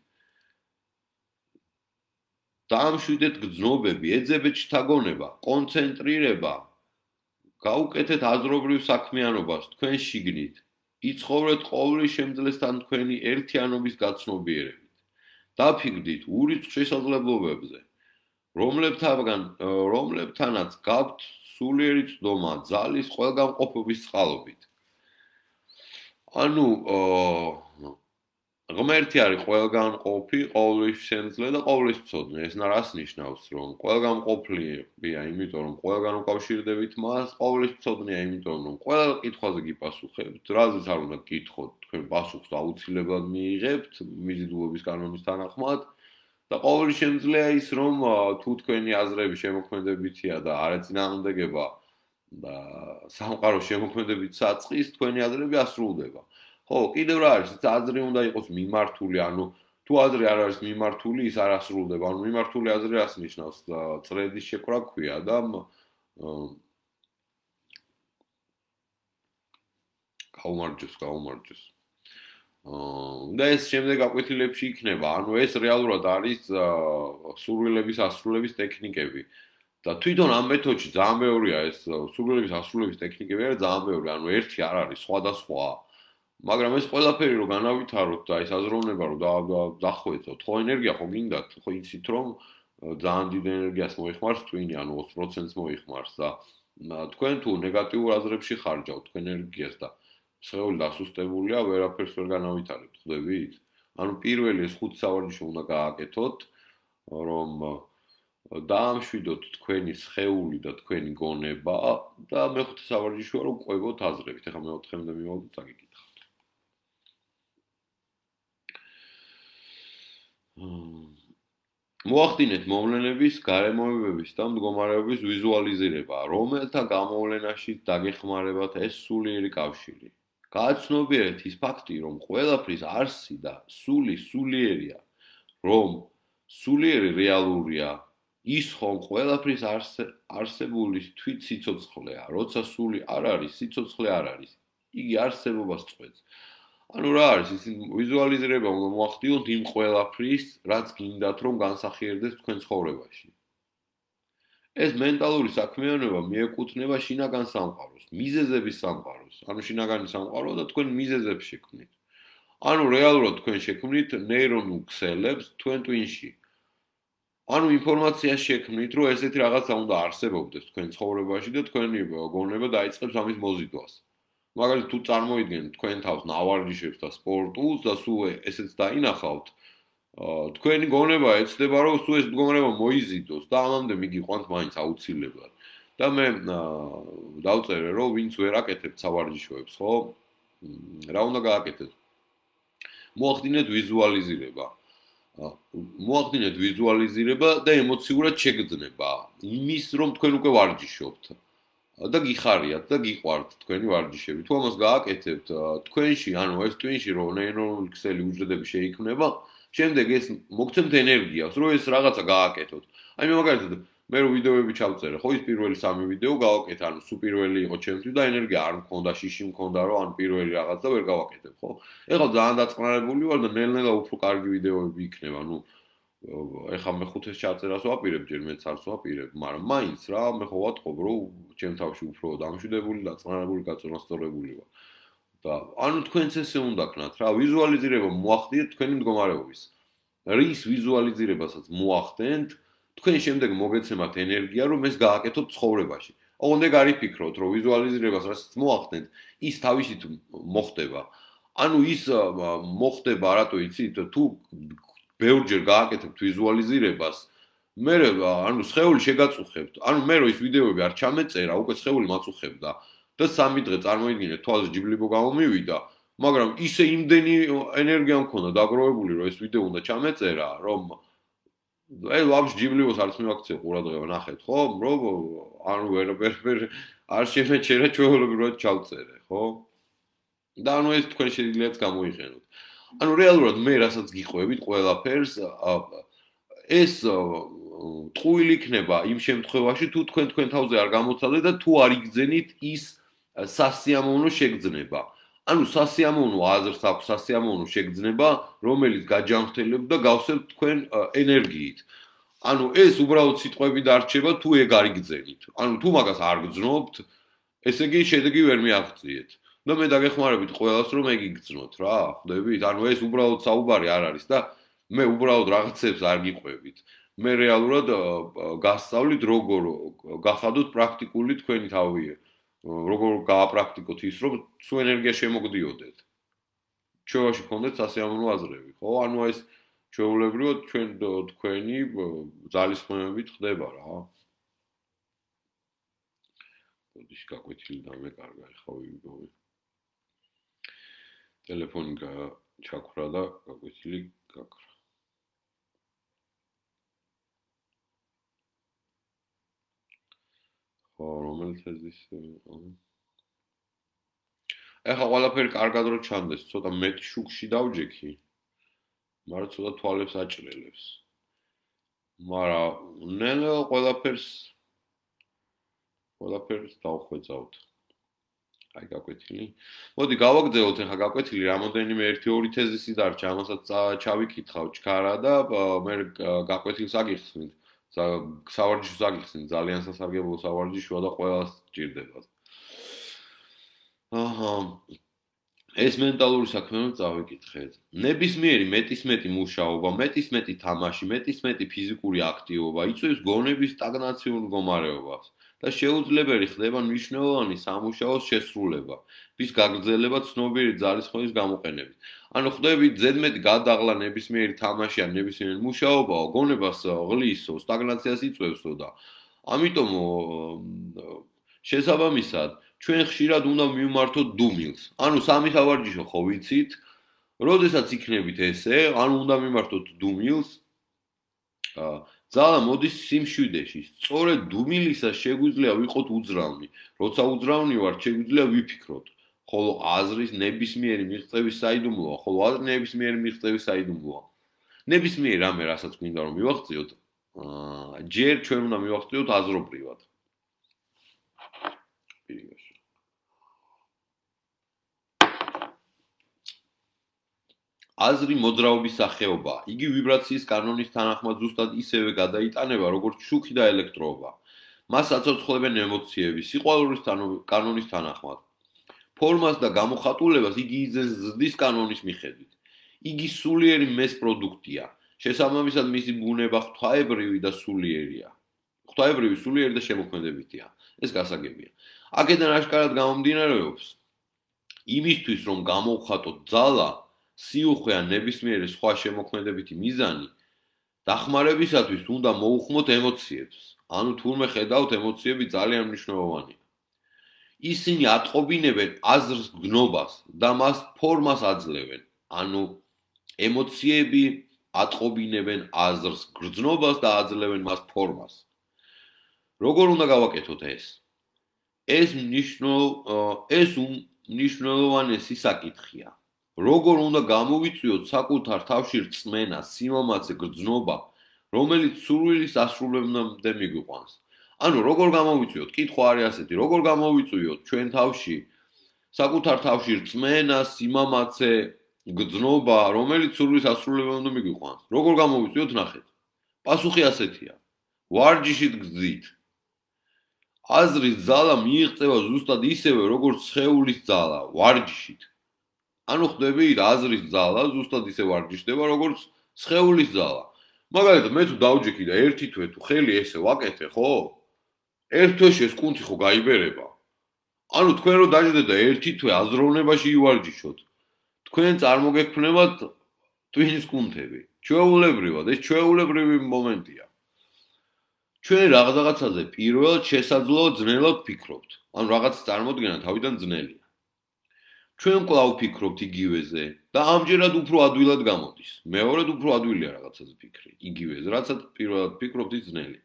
დაამშვიდეთ გრძნობები, ეძებეთ შთაგონება, კონცენტრირება, გაუკეთეთ აზრობრივ საქმიანობას თქვენ შიგნით, იცხოვრეთ ყოვლის შემძლესთან თქვენი ერთიანობის გაცნობიერებით. დაფიქრდით ურიცხ შესაძლებლობებზე, რომლებთანაც გაქვთ სულიერი ცდომა ძალის ყველგამყოფობის წყალობით. ანუ ღმერთი არის ყველგამყოფი, ყოვლის შემძლე და ყოვლის მცოდნე. ეს რას ნიშნავს, რომ ყველგამყოფლია, იმიტომ რომ ყველგან უკავშირდებით მას, ყოვლის მცოდნეა, იმიტომ რომ ყველა კითხვაზე გიპასუხებთ, რაზეც არ უნდა გკითხოთ, თქვენ პასუხს აუცილებლად მიიღებთ მიზიდულობის კანონის თანახმად. და ყოველი შემძლეა ის, რომ თუ თქვენი აზრები შემოქმედებითია და არ ეწინააღმდეგება და სამყაროს შემოქმედებით საწყის, თქვენი აზრები ასრულდება. ხო, კიდევ რა არის, აზრი უნდა იყოს მიმართული, ანუ თუ აზრი არ არის მიმართული, ის არ ასრულდება. ანუ მიმართული აზრი რას ნიშნავს? წრედის შეკვრა ქვია და გაუმარჯოს. და ეს შემდეგ გაკვეთილებში იქნება. ანუ ეს რეალურად არის სურვილების ასრულების ტექნიკები. და თვითონ ამ მეთოდში ძალიან მეორია ეს სურვილების ასრულების ტექნიკები არის ძალიან ბევრი. ანუ ერთი არ არის, სხვადასხვა. მაგრამ ეს ყველაფერი რო განავითაროთ და ეს აზროვნება რო დახვეწოთ, ხო ენერგია ხო გინდათ, ხო იცით რომ ძალიან დიდ ენერგიას მოიხმარს ტვინი, ანუ 20%-ს მოიხმარს და თქვენ თუ ნეგატიურ აზრებში ხარჯავთ თქვენ ენერგიას და სხეული დასუსტებულია, ვერაფერს ვერ განავითარებთ, ხვდებით? ანუ პირველი ეს 5 სავარჯიშო უნდა გააკეთოთ, რომ დაამშვიდოთ თქვენი სხეული და თქვენი გონება და მეხუთე სავარჯიშოა რომ ყვებოთ აზრებით. ეხლა მეოთხემდე მივავდით, წაგიკითხავთ. მოახდინეთ მოვლენების, გარემოებების და მდგომარეობის ვიზუალიზირება, რომელთა გამოვლენაშიც დაგეხმარებათ ეს სულიერი კავშირი. გააცნობიერეთ ის ფაქტი, რომ ყველაფრის არსი და სული სულიერია, რომ სულიერი რეალურია, ის ხომ ყველაფრის არსებული თვით სიცოცხლეა, როცა სული არ არის, სიცოცხლე არ არის. იგი არსებობას წყვეტს. ანუ რა არის ის ვიზუალიზირება უნდა მოახდინოთ იმ ყველაფრის, რაც გინდათ რომ განსახიერდეს თქვენ ცხოვრებაში. ეს მენტალური საქმიანობა მიეკუთვნება შინაგან სამყაროს, მიზეზების სამყაროს. ანუ შინაგანი სამყარო და თქვენ მიზეზებს შექმნით. ანუ რეალურად თქვენ შექმნით ნეირონულ ქსელებს თქვენ ტვინში. ანუ ინფორმაციას შექმნით, რომ ესეთი რაღაცა უნდა არსებობდეს თქვენ ცხოვრებაში და თქვენი გონება დაიწყებს ამის მოზიდვას. მაგალითად, თუ წარმოიდგენთ თქვენ თავს ნავარჯიშებს და სპორტულს და სულ ესეც დაინახავთ, თქვენი გონება ეცდება, რომ სულ ეს მდგომარეობა მოიზიდოს და ამამდე მიგიყვანთ მაინც აუცილებლად. და მე დავწერე, რომ ვინც ვერ აკეთებთ სავარჯიშოებს, ხო? რა უნდა გააკეთეთ? მოახდინეთ ვიზუალიზირება. მოახდინეთ ვიზუალიზირება და ემოციურად შეგრძნება იმის, რომ თქვენ უკვე ვარჯიშობთ. და გიხარიათ და გიყვართ თქვენი ვარჯიშები. თუ ამას გააკეთებთ თქვენში, ანუ ეს ტვინში რომ ნეირონული ქსელი უჯრედები შეიქმნება, შემდეგ ეს მოგცემთ ენერგიას, რომ ეს რაღაცა გააკეთოთ. აი მე მაგალითად მე რო ვიდეოები ჩავწერე, ხო ის პირველი 3 ვიდეო გავაკეთე, ანუ სულ პირველი იყო ჩემთვის და ენერგია არ მქონდა, შიში მქონდა, რომ ან პირველი რაღაც და ვერ გავაკეთებ, ხო? ეხლა ძალიან დაწყნარებული ვარ და ნელ-ნელა უფრო კარგი ვიდეოები იქნება, ანუ ეხლა მე 5-ს ჩაწერას ვაპირებ, ჯერ მეც არც ვაპირებ, მაგრამ მაინც რა, მე ხო ვატყობ, რომ ჩემ თავში უფრო დამშვიდებული, დაწყნარებული, გაწონასწორებული ვარ. და ანუ თქვენც ესე უნდა ქნათ რა, ვიზუალიზირება მოახდინეთ თქვენი მდგომარეობის. რის ვიზუალიზირებასაც მოახდენთ, თქვენ შემდეგ მოგეცემათ ენერგია, რომ ეს გააკეთოთ ცხოვრებაში. ოღონდ ეგ არ იფიქროთ, რომ ვიზუალიზირებას რასაც მოახდენთ, ის თავისით მოხდება. ანუ ის მოხდება, რატო იცით, თუ ბევრჯერ გააკეთებთ ვიზუალიზირებას, მე ანუ სხეული შეგაწუხებთ. ანუ მე რო ის ვიდეოები არ ჩამეწერა, უკვე სხეული მაწუხებდა. და 3 დღე წარმოიდგინეთ, თვალზე ჯიბლიბო გამომივიდა, მაგრამ ისე იმდენი ენერგია მქონდა დაგროვებული, რომ ეს ვიდეო უნდა ჩამეწერა, რომ აი ვაფშე ჯიბლიბოს არც მივაქცია ყურადღება, ნახეთ, ხო? რომ ანუ ვერ არ შემეჩერა ჩვეულებრივად ჩავწერე, ხო? და ანუ ეს თქვენ შეგიძლიათ გამოიყენოთ. ანუ რეალურად მე რასაც გიყვებით ყველაფერს, ეს ტყუილი იქნება იმ შემთხვევაში, თუ თქვენ თავზე არ გამოცადეთ და თუ არ იგძენით ის სასიამოვნო შეგრძნება. ანუ სასიამოვნო აზრს აქვს სასიამოვნო შეგრძნება, რომელიც გაჯანმრთელებ და გავსებთ თქვენ ენერგიით. ანუ ეს უბრალოდ სიტყვები დარჩება, თუ ეგ არ იგძენით. ანუ თუ მაგას არ გძნობთ, ესე იგი შედეგი ვერ მიაღწიეთ. და მე დაგეხმარებით ყველას, რომ ეგ იგძნოთ რა, ხვდებით? ანუ ეს უბრალოდ საუბარი არ არის და მე უბრალოდ რაღაცებს არ გიყვებით. მე რეალურად გასწავლით, როგორ გახადოთ პრაქტიკული თქვენი თავი. როგორ გააპრაქტიკოთ ის, რომ სულ ენერგია შემოგდიოდეთ. ჩვენში გქონდეთ სასიამოვნო აზრები, ხო? ანუ ეს ჩვეულებრივად თქვენი ძალისხმევებით ხდება რა. ბოდიში გაკვეთილი დამეკარგა, ხა ვიგოვი. ტელეფონი ჩაქვრა და გაკვეთილი გაქრა. ხო, რომელიც ეს ეხლა ყველაფერი კარგად რო ჩანდეს, ცოტა მეტი შუქში დავჯექი. მაგრამ ცოტა თვალებს აჭრელებს. მაგრამ ნელ-ნელა ყველაფერს დავხვეწავთ. აი გაკვეთილი. მოდი გავაგრძელოთ ეხლა გაკვეთილი, რამოდენიმე 1-2 თეზისი დარჩა, ამასაც ჩავიკითხავ ჩქარა და მე გაკვეთილს აგიხსნით. სავარჯიშოს აგიხსნით, ძალიან სასარგებლო სავარჯიშოა და ყველას სჭირდება. აჰა. ეს მენტალური საქმეა წავიკითხეთ. ნებისმიერი მეტისმეტი მუშაობა, მეტისმეტი თამაში, მეტისმეტი ფიზიკური აქტივობა იწვევს გონების სტაგნაციურ მდგომარეობას და შეუძლებელი ხდება მნიშვნელოვანი სამუშაოს შესრულება, რის გაგრძელება ცნობილი ძალისხმევის გამოყენებით. ანუ ხდებით ზედმეტი გადაღლა ნებისმიერი თამაში ან ნებისმიერი მუშაობა გონებას ღლისო, სტაგნაციას იწვევსო და ამიტომ შესაბამისად ჩვენ ხშირად უნდა მივმართოთ დუმილს. ანუ სამი სავარჯიშო ხო ვიცით, როდესაც იქნებით ესე, ანუ უნდა მიმართოთ დუმილს. ძალა მოდის სიმშვიდეში. სწორედ დუმილისას შეგვიძლია ვიყოთ უძრავნი. როცა უძრავნი ვართ, შეგვიძლია ვიფიქროთ. ხოლო აზრის ნებისმიერი მიღწევის საიდუმლოა, ხოლო აზრი ნებისმიერი მიღწევის საიდუმლოა. ნებისმიერ რამე, რასაც გვინდა რომ მივაღწიოთ, ჯერ ჩვენ უნდა მივახციოთ აზრობრივად. აზრი მოძრაობის სახეობა. იგი ვიბრაციის კანონის თანახმად ზუსტად ისევე გადაიტანება, როგორც შუქი და ელექტროობა. მას აცოცხლებენ ემოციები, სიყვარულის კანონის თანახმად. ფორმას და გამოხატულებას იგი იძენს ზრდის კანონის მიხედვით. იგი სულიერი მეს პროდუქტია. შესაბამისად მისი ბუნება ღვთაებრივი და სულიერია. ღვთაებრივი, სულიერი და შემოქმედებითია. ეს გასაგებია. აქედან აშკარად გამომდინარეობს, იმისთვის რომ გამოვხატოთ ძალა, სიუხვე ან ნებისმიერი სხვა შემოქმედებითი მიზანი, დახმარებისათვის უნდა მოუხმოთ ემოციებს. ანუ თურმე ხედავთ, ემოციები ძალიან მნიშვნელოვანია. ისინი ატყობინებენ აზრს გნობას და მას ფორმას აძლევენ. ანუ ემოციები ატყობინებენ აზრს გრძნობას და აძლევენ მას ფორმას. როგორ უნდა გავაკეთოთ ეს? ეს უმნიშვნელოვანესი საკითხია. როგორ უნდა გამოვიწვიოთ საკუთარ თავში რწმენა, სიმამაცე, გრძნობა, რომელიც სურვილის ასრულებამდე მიგვიყვანს. ანუ როგორ გამოვიწვიოთ? კითხვა არის ასეთი, როგორ გამოვიწვიოთ ჩვენ თავში საკუთარ თავში რწმენა, სიმამაცე, გრძნობა, რომელიც სურვილის ასრულებამდე მიგვიყვანს. როგორ გამოვიწვიოთ, ნახეთ. პასუხი ასეთია. ვარჯიშით გძით. აზრის ძალა მიიღწევა ზუსტად ისევე, როგორც სხეულის ძალა, ვარჯიშით. ანუ ხდებით, აზრის ძალა ზუსტად ისე ვარჯიშდება, როგორც სხეულის ძალა. მაგალითად, მე თუ დავჯექი და ერთი თვე თუ ხელი ესე ვაკეთე, ხო? ერთ თვეში ეს კუნთი ხო გაიბერება. ანუ თქვენ რო დაждდეთ და ერთი თვე აზროვნებაში ივარჯიშოთ, თქვენ წარმოგექმნებათ ტვინის კუნთები. ჩვეულებრივად, ეს ჩვეულებრივი მომენტია. ჩვენ რაღაცაზე პირველად შესაძლოა ძნელად ვფიქრობთ. ანუ რაღაც წარმოდგენა თავიდან ძნელია. ჩვენ კვლავ ვფიქრობთ იგივეზე და ამჯერად უფრო ადვილად გამოდის. მეორედ უფრო ადვილია რაღაცაზე ფიქრი. იგივეზე, რაცაც პირველად ვფიქრობთ, ის ძნელია.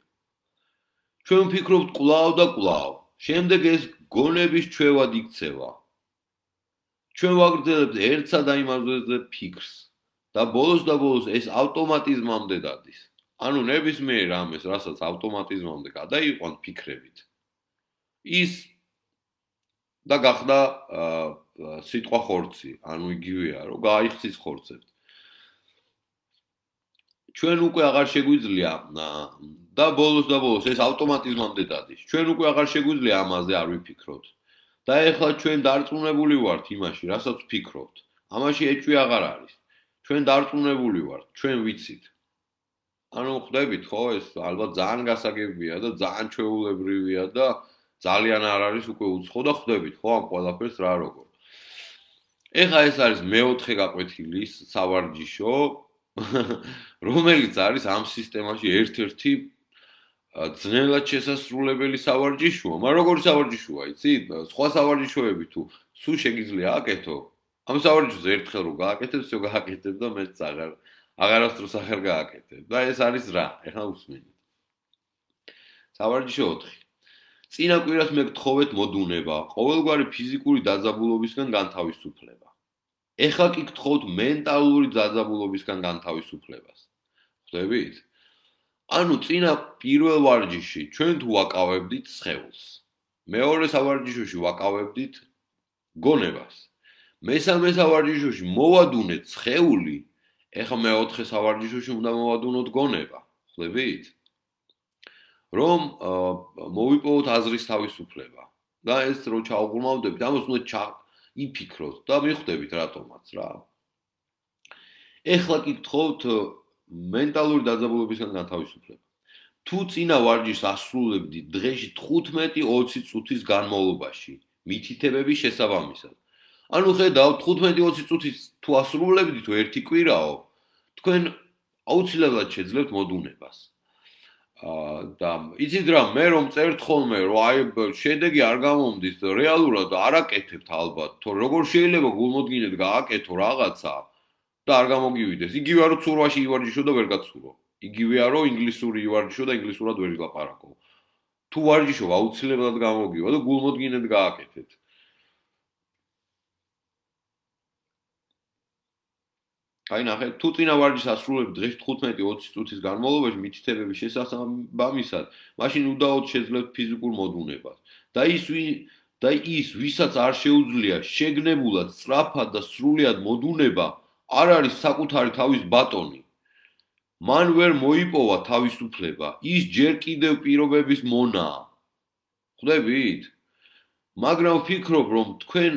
ჩვენ ვფიქრობთ კვლავ და კვლავ. შემდეგ ეს გონების ჩვევად იქცევა. ჩვენ ვაგრძელებთ ერთსა და იმავე ფიქრს და ბოლოს ეს ავტომატიზმამდე დადის. ანუ ნებისმიერ რამეს, რასაც ავტომატიზმამდე გადაიყვანთ ფიქრებით. ის და გახდა სიტყვა ხორცი, ანუ იგივეა, რომ გაიხსის ხორცებს. ჩვენ უკვე აღარ შეგვიძლია და ბოლოს ეს ავტომატიზმამდე დადის. ჩვენ უკვე აღარ შეგვიძლია ამაზე არ ვიფიქროთ. და ეხლა ჩვენ დარწმუნებული ვართ იმაში, რასაც ვფიქრობთ. ამაში ეჭვი აღარ არის. ჩვენ დარწმუნებული ვართ, ჩვენ ვიცით. ანუ ხვდებით, ხო, ეს ალბათ ძალიან გასაგებია და ძალიან ჩვეულებრივია და ძალიან არ არის უკვე უცხო და ხვდებით, ხო, ამ ყველაფერს რა როგორ. ეხლა ეს არის მეოთხე გაკვეთილის სავარჯიშო, რომელიც არის ამ სისტემაში ერთ-ერთი ძნელად შესასრულებელი სავარჯიშოა. მაგრამ როგორი სავარჯიშოა, იცით? სხვა სავარჯიშოები თუ სულ შეგიძლია აკეთო, ამ სავარჯიშოს ერთხელ რო გააკეთებ, всё გააკეთებ და მეც აღარასდროს აღარ გააკეთებ. და ეს არის რა? ეხლა უსმენთ. სავარჯიშო 4. წინა კვირას მე გთხოვეთ მოდუნება, ყოველგვარი ფიზიკური დაძაბულობისგან განთავისუფლება. ეხლა კი გთხოვთ მენტალური დაძაბულობისგან განთავისუფლებას. ხვდებით? ანუ წინა პირველ ვარჯიში ჩვენ თუ ვაკავებდით სხეულს. მეორე სავარჯიშოში ვაკავებდით გონებას. მესამე სავარჯიშოში მოვადუნეთ სხეული, ეხლა მეოთხე სავარჯიშოში უნდა მოვადუნოთ გონება. ხვდებით? რომ მოვიპოვოთ აზრის თავისუფლება. და ეს რო ჩაუღრმავდებით, ამას უნდა იფიქროთ და მიხვდებით რატომაც რა. ეხლა კი გთხოვთ მენტალური დაძაბულობისგან განთავისუფლება. თუ წინა ვარჯიშს ასრულებდით დღეში 15-20 წუთის განმავლობაში, მითითებების შესაბამისად. ანუ ხედავთ 15-20 წუთის თუ ასრულებდით ერთი კვირაო, თქვენ აუცილებლად შეძლებთ მოდუნებას. და იცით რა, მე რომ წერთ ხოლმე, რომ აი შედეგი არ გამომდის, რეალურად არ აკეთებთ ალბათ, თორე როგორ შეიძლება გულმოდგინედ გააკეთო რაღაცა და არ გამოგივიდეს. იგივეა რომ ცურვაში ივარჯიშო და ვერ გაცურო. იგივეა რომ ინგლისური ივარჯიშო და ინგლისურად ვერ ილაპარაკო. თუ ვარჯიშობ აუცილებლად გამოგივა და გულმოდგინედ გააკეთეთ. აი ნახე, თუ წინა ვარჯიშს ასრულებთ დღეში 15-20 წუთის განმავლობაში მითითებების შესაბამისად, მაშინ უდაოდ შეძლებთ ფიზიკურ მოდუნებას. და ის, ვისაც არ შეუძლია შეგნებულად, სწრაფად და სრულად მოდუნება, არ არის საკუთარი თავის ბატონი. მან ვერ მოიპოვა თავისუფლება, ის ჯერ კიდევ პირობების მონაა. ხვდებით? მაგრამ ვფიქრობ, რომ თქვენ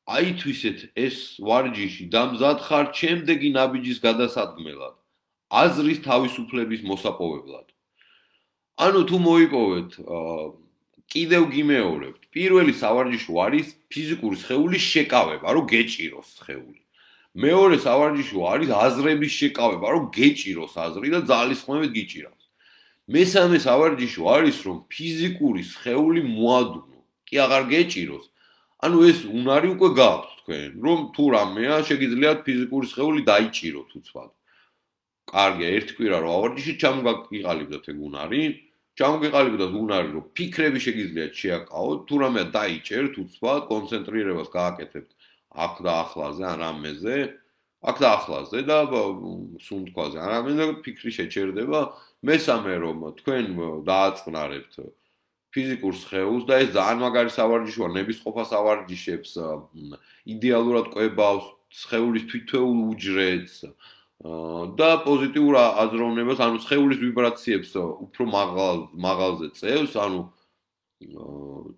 აითვისეთ ეს ვარჯიში და მზად ხართ შემდეგი ნაბიჯის გადასადგმელად, აზრის თავისუფლების მოსაპოვებლად. ანუ თუ მოიპოვეთ, კიდევ გიმეორებთ. პირველი სავარჯიშო არის ფიზიკური სხეულის შეკავება, რომ გეჭიროს სხეული. მეორე სავარჯიშო არის აზრების შეკავება, რომ გეჭიროს აზრი და ძალისხმევით გიჭირავს. მესამე სავარჯიშო არის, რომ ფიზიკური სხეული მოადუნო, კი აღარ გეჭიროს. ანუ ეს უნარი უკვე გააქვთ თქვენ, რომ თუ რამეა შეგიძლიათ ფიზიკური სხეული დაიჭიროთ უცბად. კარგია, ერთი კვირა რო ავარჯიშით, ჩამოგიყალიბდათ ეგ უნარი, ჩამოგიყალიბდათ უნარი, რომ ფიქრები შეგიძლიათ შეაკავოთ, თუ რამეა დაიჭერთ უცბად, კონცენტრირებას გააკეთებთ აქ და ახლაზე, ან რამეზე, აქ და ახლაზე და სუნთქვაზე, ან რამეზე ფიქრი შეჩერდება. მესამე რომ თქვენ დააწყნარებთ ფიზიკურ სხეულს და ეს ძალიან მაგარი სავარჯიშოა, ნებისყოფა სავარჯიშებს, იდეალურად კვებავს სხეულის თვითეულ უჯრედს და პოზიტიურ აზროვნებას, ანუ სხეულის ვიბრაციებს უფრო მაღალზე წევს, ანუ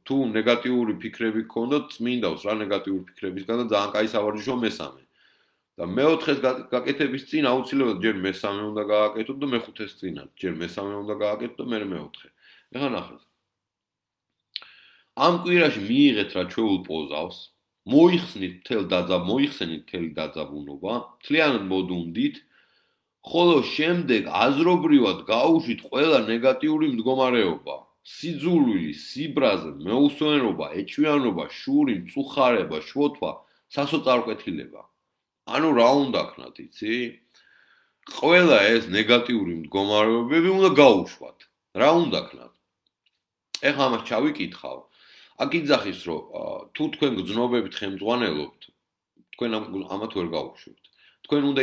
თუ ნეგატიური ფიქრები გქონდათ, წმინდავს რა ნეგატიური ფიქრებისგან და ძალიან კაი სავარჯიშოა მესამე. და მეოთხეს გაკეთების წინ აუცილებლად ჯერ მესამე უნდა გააკეთოთ და მეხუთეს წინათ, ჯერ მესამე უნდა გააკეთოთ და მერე მეოთხე. ეხლა ნახეთ. ამ კვირაში მიიღეთ რა ჩვეულ პოზავს, მოიხსნით მთელი დაძაბუნობა, მთლიანად მოდუნდით, ხოლო შემდეგ აზრობრივად გაუშვით ყველა ნეგატიური მდგომარეობა, სიძულვილი, სიბრაზე, მეუსვენობა, ეჭვიანობა, შური, მწუხარება, შოთვა, სასოწარკვეთილება. ანუ რა უნდა ქნათ, იცი? ყველა ეს ნეგატიური მდგომარეობები უნდა გაუშვათ. რა უნდა ქნათ? ეხლა ამას ჩავიკითხავ. აქ იძახის, რომ თუ თქვენ გრძნობებით ხელმძღვანელობთ, თქვენ ამათ ვერ გაუშვებთ. თქვენ უნდა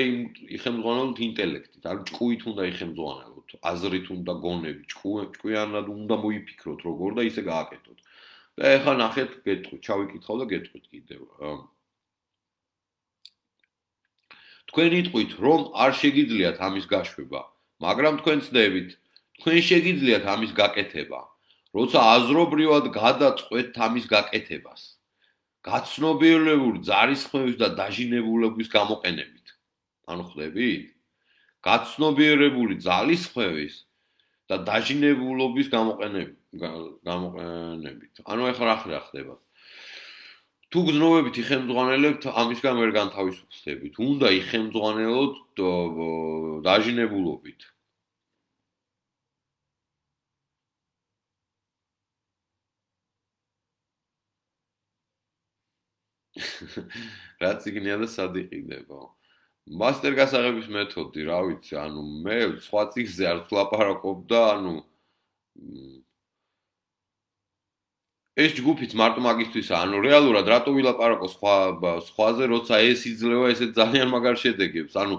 იხელმძღვანელოთ ინტელექტით, არ ჭკუით უნდა იხელმძღვანელოთ, აზრით უნდა გონებით, ჭკვიანად უნდა მოიფიქროთ როგორ და ისე გააკეთოთ. და ეხლა ნახეთ, გეტყვით, ჩავიკითხავ და გეტყვით კიდევ. თქვენ იტყვით, რომ არ შეგიძლიათ ამის გაშვება, მაგრამ თქვენ ცდებით, თქვენ შეგიძლიათ ამის გაკეთება. როცა აზრობრივად გადაწყვეტთ ამის გაკეთებას, გაცნობიერებული ძალისხმევის და დაჟინებულობის გამოყენებით. ანუ ხვდებით? გაცნობიერებული ძალისხმევის და დაჟინებულობის გამოყენებით. ანუ ეხლა რა ხდება? თუ გრძნობებით იხელმძღვანელებთ, ამისგან ვერ განთავისუფლდებით. უნდა იხელმძღვანელოთ დაჟინებულობით. რაც იგნია და სად იყიდება. მასტერ გასაღების მეთოდი, რა ვიცი, ანუ მე სხვა წიგნზე არ ვლაპარაკობ და ანუ ეს ჯგუფიც მარტო მაგისთვისაა, ანუ რეალურად რატო ვილაპარაკო სხვაზე, როცა ეს იძლევა ესეთ ძალიან მაგარ შედეგებს, ანუ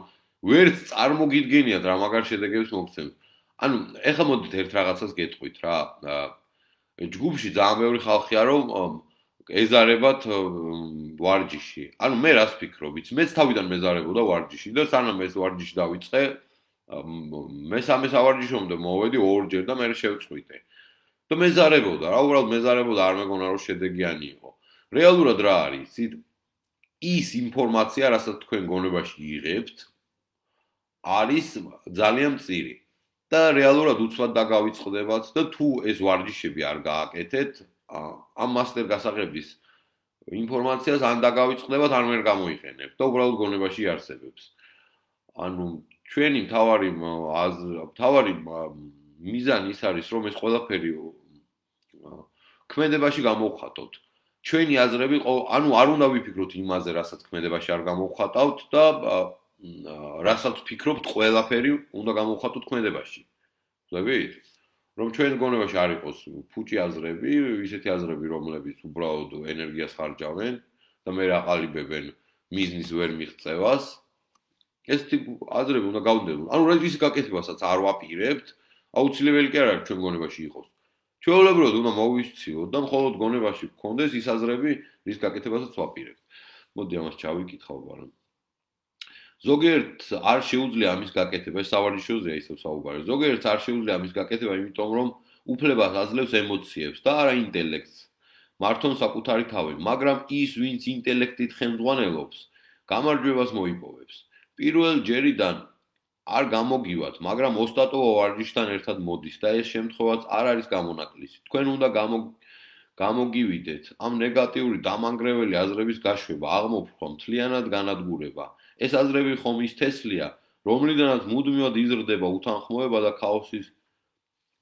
ვერც წარმოგიდგენიათ რა მაგარ შედეგებს მოგცემს. ანუ ეხლა მოდით ერთ რაღაცას გეტყვით რა. ჯგუფში ძალიან ბევრი ხალხია, რომ ეზარებათ ვარჯიში. ანუ მე რას ვფიქრობ, იცი, მეც თავიდან მეზარებოდა ვარჯიში და სანამ ეს ვარჯიში დავიწყე, მესამე სავარჯიშომდე მოვედი ორჯერ და მე შევწყვიტე. და მეზარებოდა, რა უბრალოდ მეზარებოდა, არ მეგონა რომ შედეგიანი იყო. რეალურად რა არის, იცით? ის ინფორმაცია, რასაც თქვენ გონებაში იღებთ, არის ძალიან მწირი. და რეალურად უცბად დაგავიწყდებათ და თუ ეს ვარჯიშები არ გააკეთეთ, ამ მასტერ გასაღების ინფორმაციას ან დაგავიწყდებათ, ან ვერ გამოიყენებთ და უბრალოდ გონებაში იარსებებს. ანუ ჩვენი მთავარი მიზანი ის არის, რომ ეს ყველაფერი ქმედებაში გამოვხატოთ. ჩვენი აზრები, ანუ არ უნდა ვიფიქროთ იმაზე, რასაც ქმედებაში არ გამოვხატავთ და რასაც ვფიქრობთ, ყველაფერი უნდა გამოვხატოთ ქმედებაში. ხვდებით? რომ ჩვენ გონებაში არ იყოს ფუჭი აზრები, ისეთი აზრები, რომლებიც უბრალოდ ენერგიას ხარჯავენ და მე აყალიბებენ მიზნის ვერ მიღწევას. ეს აზრები უნდა გავდევნო. ანუ რა ის გაკეთებასაც არ ვაპირებთ, აუცილებელი კი არ არის ჩვენ გონებაში იყოს. ჩვეულებრივად უნდა მოვისციოთ და მხოლოდ გონებაში გქონდეს ის აზრები, რის გაკეთებასაც ვაპირებთ. მოდი ამას ჩავიკითხავ, მაგრამ ზოგიერთს არ შეუძლია ამის გაკეთება, ეს სავარჯიშოზეა ისევ საუბარი. ზოგიერთს არ შეუძლია ამის გაკეთება, იმიტომ რომ უფლებას აძლევს ემოციებს და არა ინტელექტს. მართონ საკუთარი თავი, მაგრამ ის, ვინც ინტელექტით ხელმძღვანელობს, გამარჯვებას მოიპოვებს. პირველ ჯერიდან არ გამოგივათ, მაგრამ ოსტატოვა ვარჯიშთან ერთად მოდის და ეს შემთხვევაც არ არის გამონაკლისი. თქვენ უნდა გამოგივიდეთ ამ ნეგატიური დამანგრეველი აზრების გაშვება, აღმოფხვრა, მთლიანად განადგურება. ეს აზრები ხომ ის თესლია, რომლიდანაც მუდმივად იზრდება უთანხმოება და ქაოსის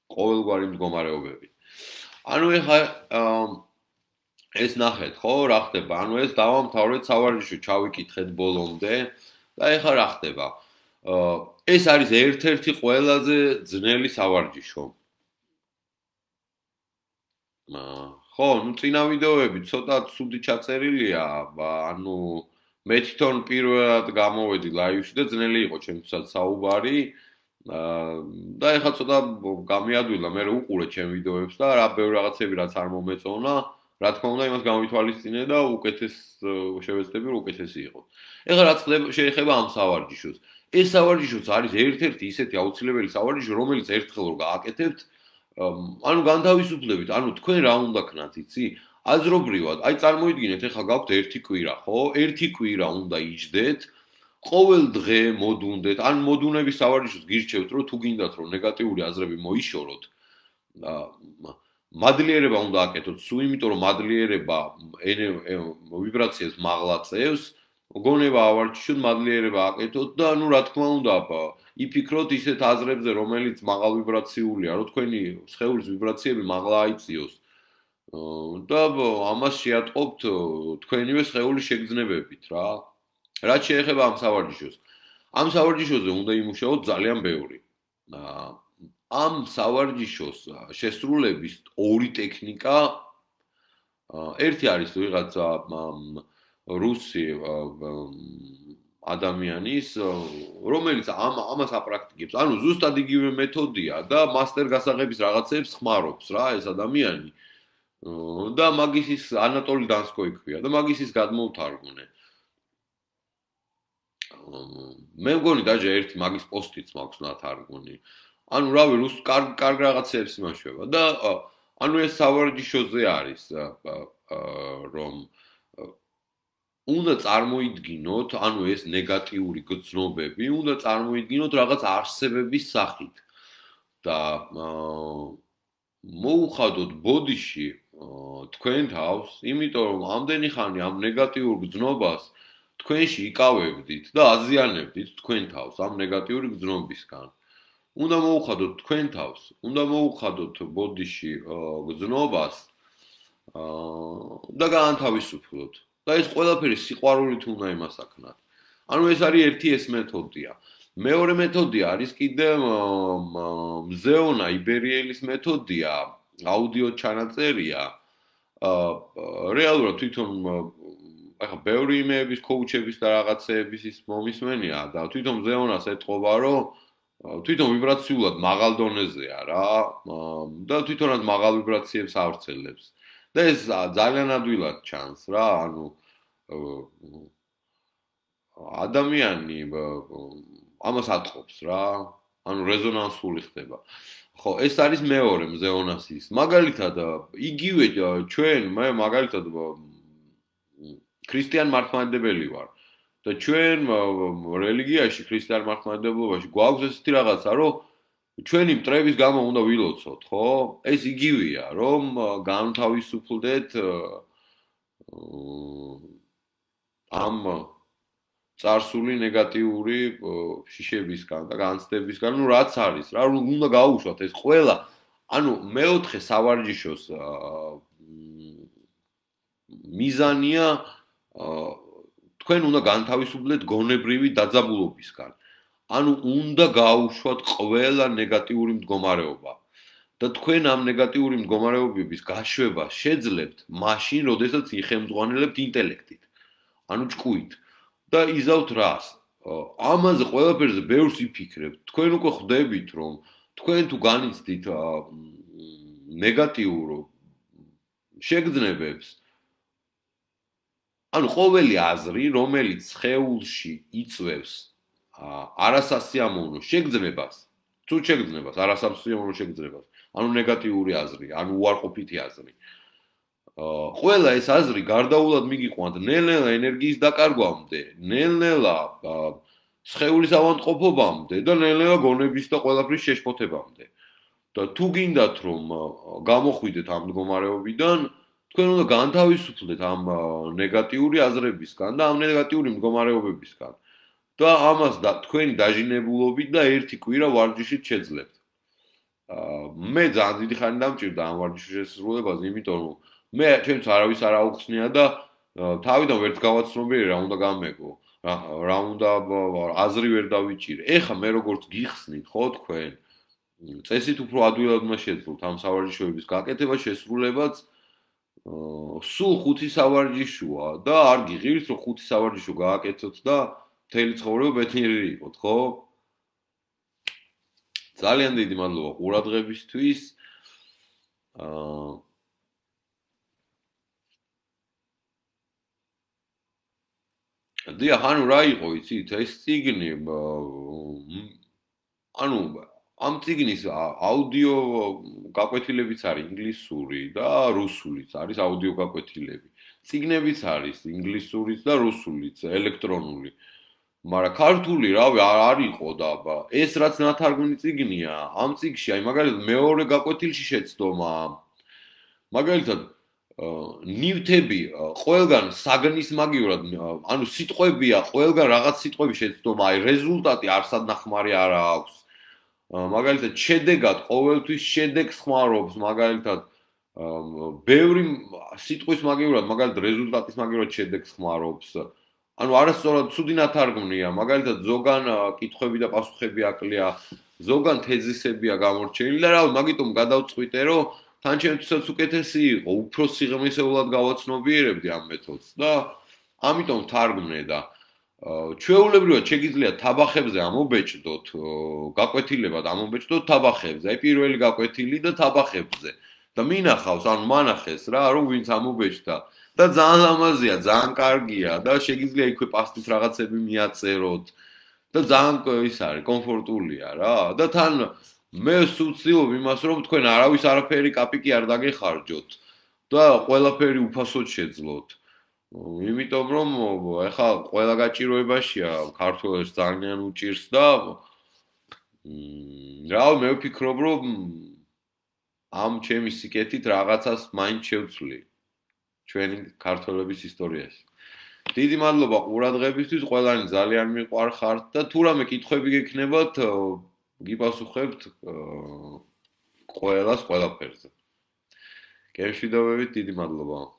ყოველგვარი მდგომარეობები. ანუ ეხლა ეს ნახეთ, ხო, რა ხდება? ანუ ეს დავამთავრეთ სავარჯიშო, ჩავიკითხეთ ბოლომდე და ეხლა რა ხდება? ეს არის ერთ-ერთი ყველაზე ძნელი სავარჯიშო. ხო, ну წინა ვიდეოები ცოტა ცუდი ჩაწერილია, ანუ მე თვითონ პირველად გამოვედი ლაივში და ძნელი იყო ჩემთვისაც საუბარი. და ეხლა ცოტა გამიადვილა, მე უყურე ჩემ ვიდეოებს და რა ბევრ რაღაცები რაც არ მომეწონა, რა თქმა უნდა იმას გამვითვალისწინე და უკეთეს შევეცდები რომ უკეთესი იყოს. ეხლა რაც შეეხება ამ სავარჯიშოს. ეს სავარჯიშოც არის ერთ-ერთი ისეთი აუცილებელი სავარჯიშო, რომელიც ერთხელ რო გააკეთებთ, ანუ განთავისუფლებით, ანუ თქვენ რა უნდა ქნათ, იცი? აზრობრივად, აი წარმოიდგინეთ, ეხლა გაქვთ ერთი კვირა, ხო? ერთი კვირა უნდა იჯდეთ, ყოველ დღე მოდუნდეთ, ან მოდუნების სავარჯიშოს გირჩევთ, რომ თუ გინდათ, რომ ნეგატიური აზრები მოიშოროთ, მადლიერება უნდა აკეთოთ, სულ იმიტომ, რომ მადლიერება ვიბრაციას მაღლაწევს, გონება ავარჯიშოთ, მადლიერება აკეთოთ და ნუ რა თქმა უნდა, იფიქროთ ისეთ აზრებზე, რომელიც მაღალ ვიბრაციულია, რომ თქვენი სხეულის ვიბრაციები მაღლა აიწიოს. და ამას შეატყობთ თქვენივე სხეულის შეგრძნებებით რა. რაც შეეხება ამ სავარჯიშოს. ამ სავარჯიშოზე უნდა იმუშაოთ ძალიან ბევრი. ამ სავარჯიშოს შესრულების ორი ტექნიკა. ერთი არის ვიღაცა რუსი ადამიანის, რომელიც ამას აპრაქტიკებს. ანუ ზუსტად იგივე მეთოდია და მასტერ გასაღების რაღაცებს ხმარობს რა ეს ადამიანი. და მაგის ის ანატოლი დანსკო იქვია და მაგის ის გადმოვთარგმნე. მე მგონი დაჟე ერთი მაგის პოსტიც მაქვს ნათარგმნი. ანუ რავი, კარგ რაღაცებს იმაშვება და ანუ ეს სავარჯიშოზე არის, რომ უნდა წარმოიდგინოთ, ანუ ეს ნეგატიური გრძნობები, უნდა წარმოიდგინოთ რაღაც არსებების სახით და მოუხადოთ ბოდიში თქვენ თავს, იმიტომ რომ ამდენი ხანი ამ ნეგატიურ გრძნობას თქვენში იკავებდით და აზიანებდით თქვენ თავს ამ ნეგატიური გრძნობისგან. უნდა მოუხადოთ თქვენ თავს, უნდა მოუხადოთ ბოდიში გრძნობას და გაანთავისუფლოთ. და ეს ყველაფერი სიყვარულით უნდა იმასაკნათ. ანუ ეს არის ერთი ეს მეთოდია. მეორე მეთოდია არის კიდე მზეონა იბერიელის მეთოდია, აუდიო ჩანაწერია. რეალურად თვითონ ახლა ბევრი იმეების, კოუჩების და რაღაცეების ის მომისმენია და თვითონ მზეონას ეტყობა, რომ თვითონ ვიბრაციულად მაღალ დონეზეა რა და თვითონაც მაღალ ვიბრაციებს ავრცელებს. და ეს ძალიან ადვილად ჩანს რა, ანუ ადამიანი ამას ატყობს რა, ანუ რეზონანსული ხდება. ხო, ეს არის მეორე მზეონასის. მაგალითად, იგივე ჩვენ, მე მაგალითად ქრისტიან მართლმადიდებელი ვარ და ჩვენ რელიგიაში, ქრისტიან მართლმადიდებლობაში გვაქვს ესეთი რაღაცა, რომ ჩვენი მტრების გამო უნდა ვილოცოთ, ხო? ეს იგივეა, რომ განთავისუფლდეთ ამ წარსული ნეგატიური შიშებისგან და განცდებისგან, ну რაც არის, რა უნდა გაუშვათ ეს ყველა, ანუ მეოთხე სავარჯიშოს მიზანია თქვენ უნდა განთავისუფლდეთ გონებრივი დაძაბულობისგან. ანუ უნდა გაუშვათ ყველა ნეგატიური მდგომარეობა. და თქვენ ამ ნეგატიური მდგომარეობების გაშვება შეძლებთ მაშინ, როდესაც იხელმძღვანელებთ ინტელექტით. ანუ ჭკუით. და იზავთ რას? ამაზე ყველაფერზე ბევრს იფიქრებთ. თქვენ უკვე ხვდებით, რომ თქვენ თუ განიცდით ნეგატიურ შეგრძნებებს, ანუ ყოველი აზრი, რომელიც სხეულში იწვევს არასასიამოვნო შეგრძნებას, თუ შეგრძნებას, არასასიამოვნო შეგრძნებას, ანუ ნეგატიური აზრი, ანუ უარყოფითი აზრი. ყველა ეს აზრი გარდაულად მიგიყვანთ ნელ-ნელა ენერგიის დაკარგვამდე, ნელ-ნელა სხეულის ავადმყოფობამდე და ნელ-ნელა გონების და ყველაფრის შეშფოთებამდე. და თუ გინდათ რომ გამოხვიდეთ ამ მდგომარეობიდან, თქვენ უნდა განთავისუფლდეთ ამ ნეგატიური აზრებისგან და ამ ნეგატიური მდგომარეობებისგან. და ამას თქვენი დაჟინებულობით და ერთი კვირა ვარჯიშით შეძლებთ. მე ძალიან დიდი ხანი დამჭირდა ამ ვარჯიშის შესრულებას, იმიტომ რომ მე ჩემს არავის არ აუხსნია და თავიდან ვერც გავაცნობიერე რა უნდა გამეგო, რა უნდა აზრი ვერ დავიჭირე. ეხა მე როგორც გიხსნით, ხო თქვენ წესით უფრო ადვილად უნდა შეძლოთ ამ სავარჯიშოების გაკეთება, შესრულებაც სულ 5 სავარჯიშოა და არ გიღირთ რომ 5 სავარჯიშო გააკეთოთ და მთელი ცხოვრება ბედნიერი იყოთ, ხო? ძალიან დიდი მადლობა ყურადღებისთვის. დიახ, ანუ რა იყო, იცით, ეს წიგნი ანუ ამ წიგნის აუდიო გაკვეთილებიც არის ინგლისური და რუსულიც არის აუდიო გაკვეთილები. წიგნებიც არის ინგლისურიც და რუსულიც, ელექტრონული. მაგრამ ქართული რავი არ იყო და ეს რაც ნათარგმნი წიგნია, ამ წიგში აი მაგალითად მეორე გაკვეთილში შეცდომა. მაგალითად ნივთები ყველგან საგნის მაგივრად, ანუ სიტყვებია, ყველგან რაღაც სიტყვები შეცდომა, აი რეზულტატი არსადნახმარი არ აქვს. მაგალითად შედეგად ყოველთვის შედეგს ხმარობს, მაგალითად ბევრი სიტყვის მაგივრად, მაგალითად რეზულტატის მაგივრად შედეგს ხმარობს. ანუ არასწორად ცუდი ნათარგმნია, მაგალითად ზოგან კითხვები და პასუხები აკლია, ზოგან თეზისებია გამორჩენილი და რავი, მაგიტომ გადავწყვიტე, რომ თან ჩემთვისაც უკეთესი იყო, უფრო სიღრმისეულად გავაცნობიერებდი ამ მეთოდს და ამიტომ თარგმნე და ჩვეულებრივად შეგიძლიათ თაბახებზე ამობეჭდოთ, გაკვეთილებად ამობეჭდოთ თაბახებზე, აი პირველი გაკვეთილი და თაბახებზე და მინახავს, ანუ მანახეს რა, რომ ვინც ამობეჭდა და ძალიან ლამაზია, ძალიან კარგია და შეგიძლია იქვე პასტით რაღაცები მიაწეროთ და ძალიან ის არის, კომფორტულია რა და თან მე ვცდილობ იმას, რომ თქვენ არავის არაფერი კაპიკი არ დაგეხარჯოთ და ყველაფერი უფასოდ შეძლოთ. იმიტომ რომ ეხლა ყველა გაჭიროებაშია, ქართველებს ძალიან უჭირს და რა მე ვფიქრობ, რომ ამ ჩემი სიკეთით რაღაცას მაინც შევცვლი ჩვენი ქართველების ისტორიაში. დიდი მადლობა ყურადღებისთვის, ყველანი ძალიან მიყვარხართ და თუ რამე კითხვები გექნებათ, გიპასუხებთ ყველას ყველაფერზე. გემშვიდობებით, დიდი მადლობა.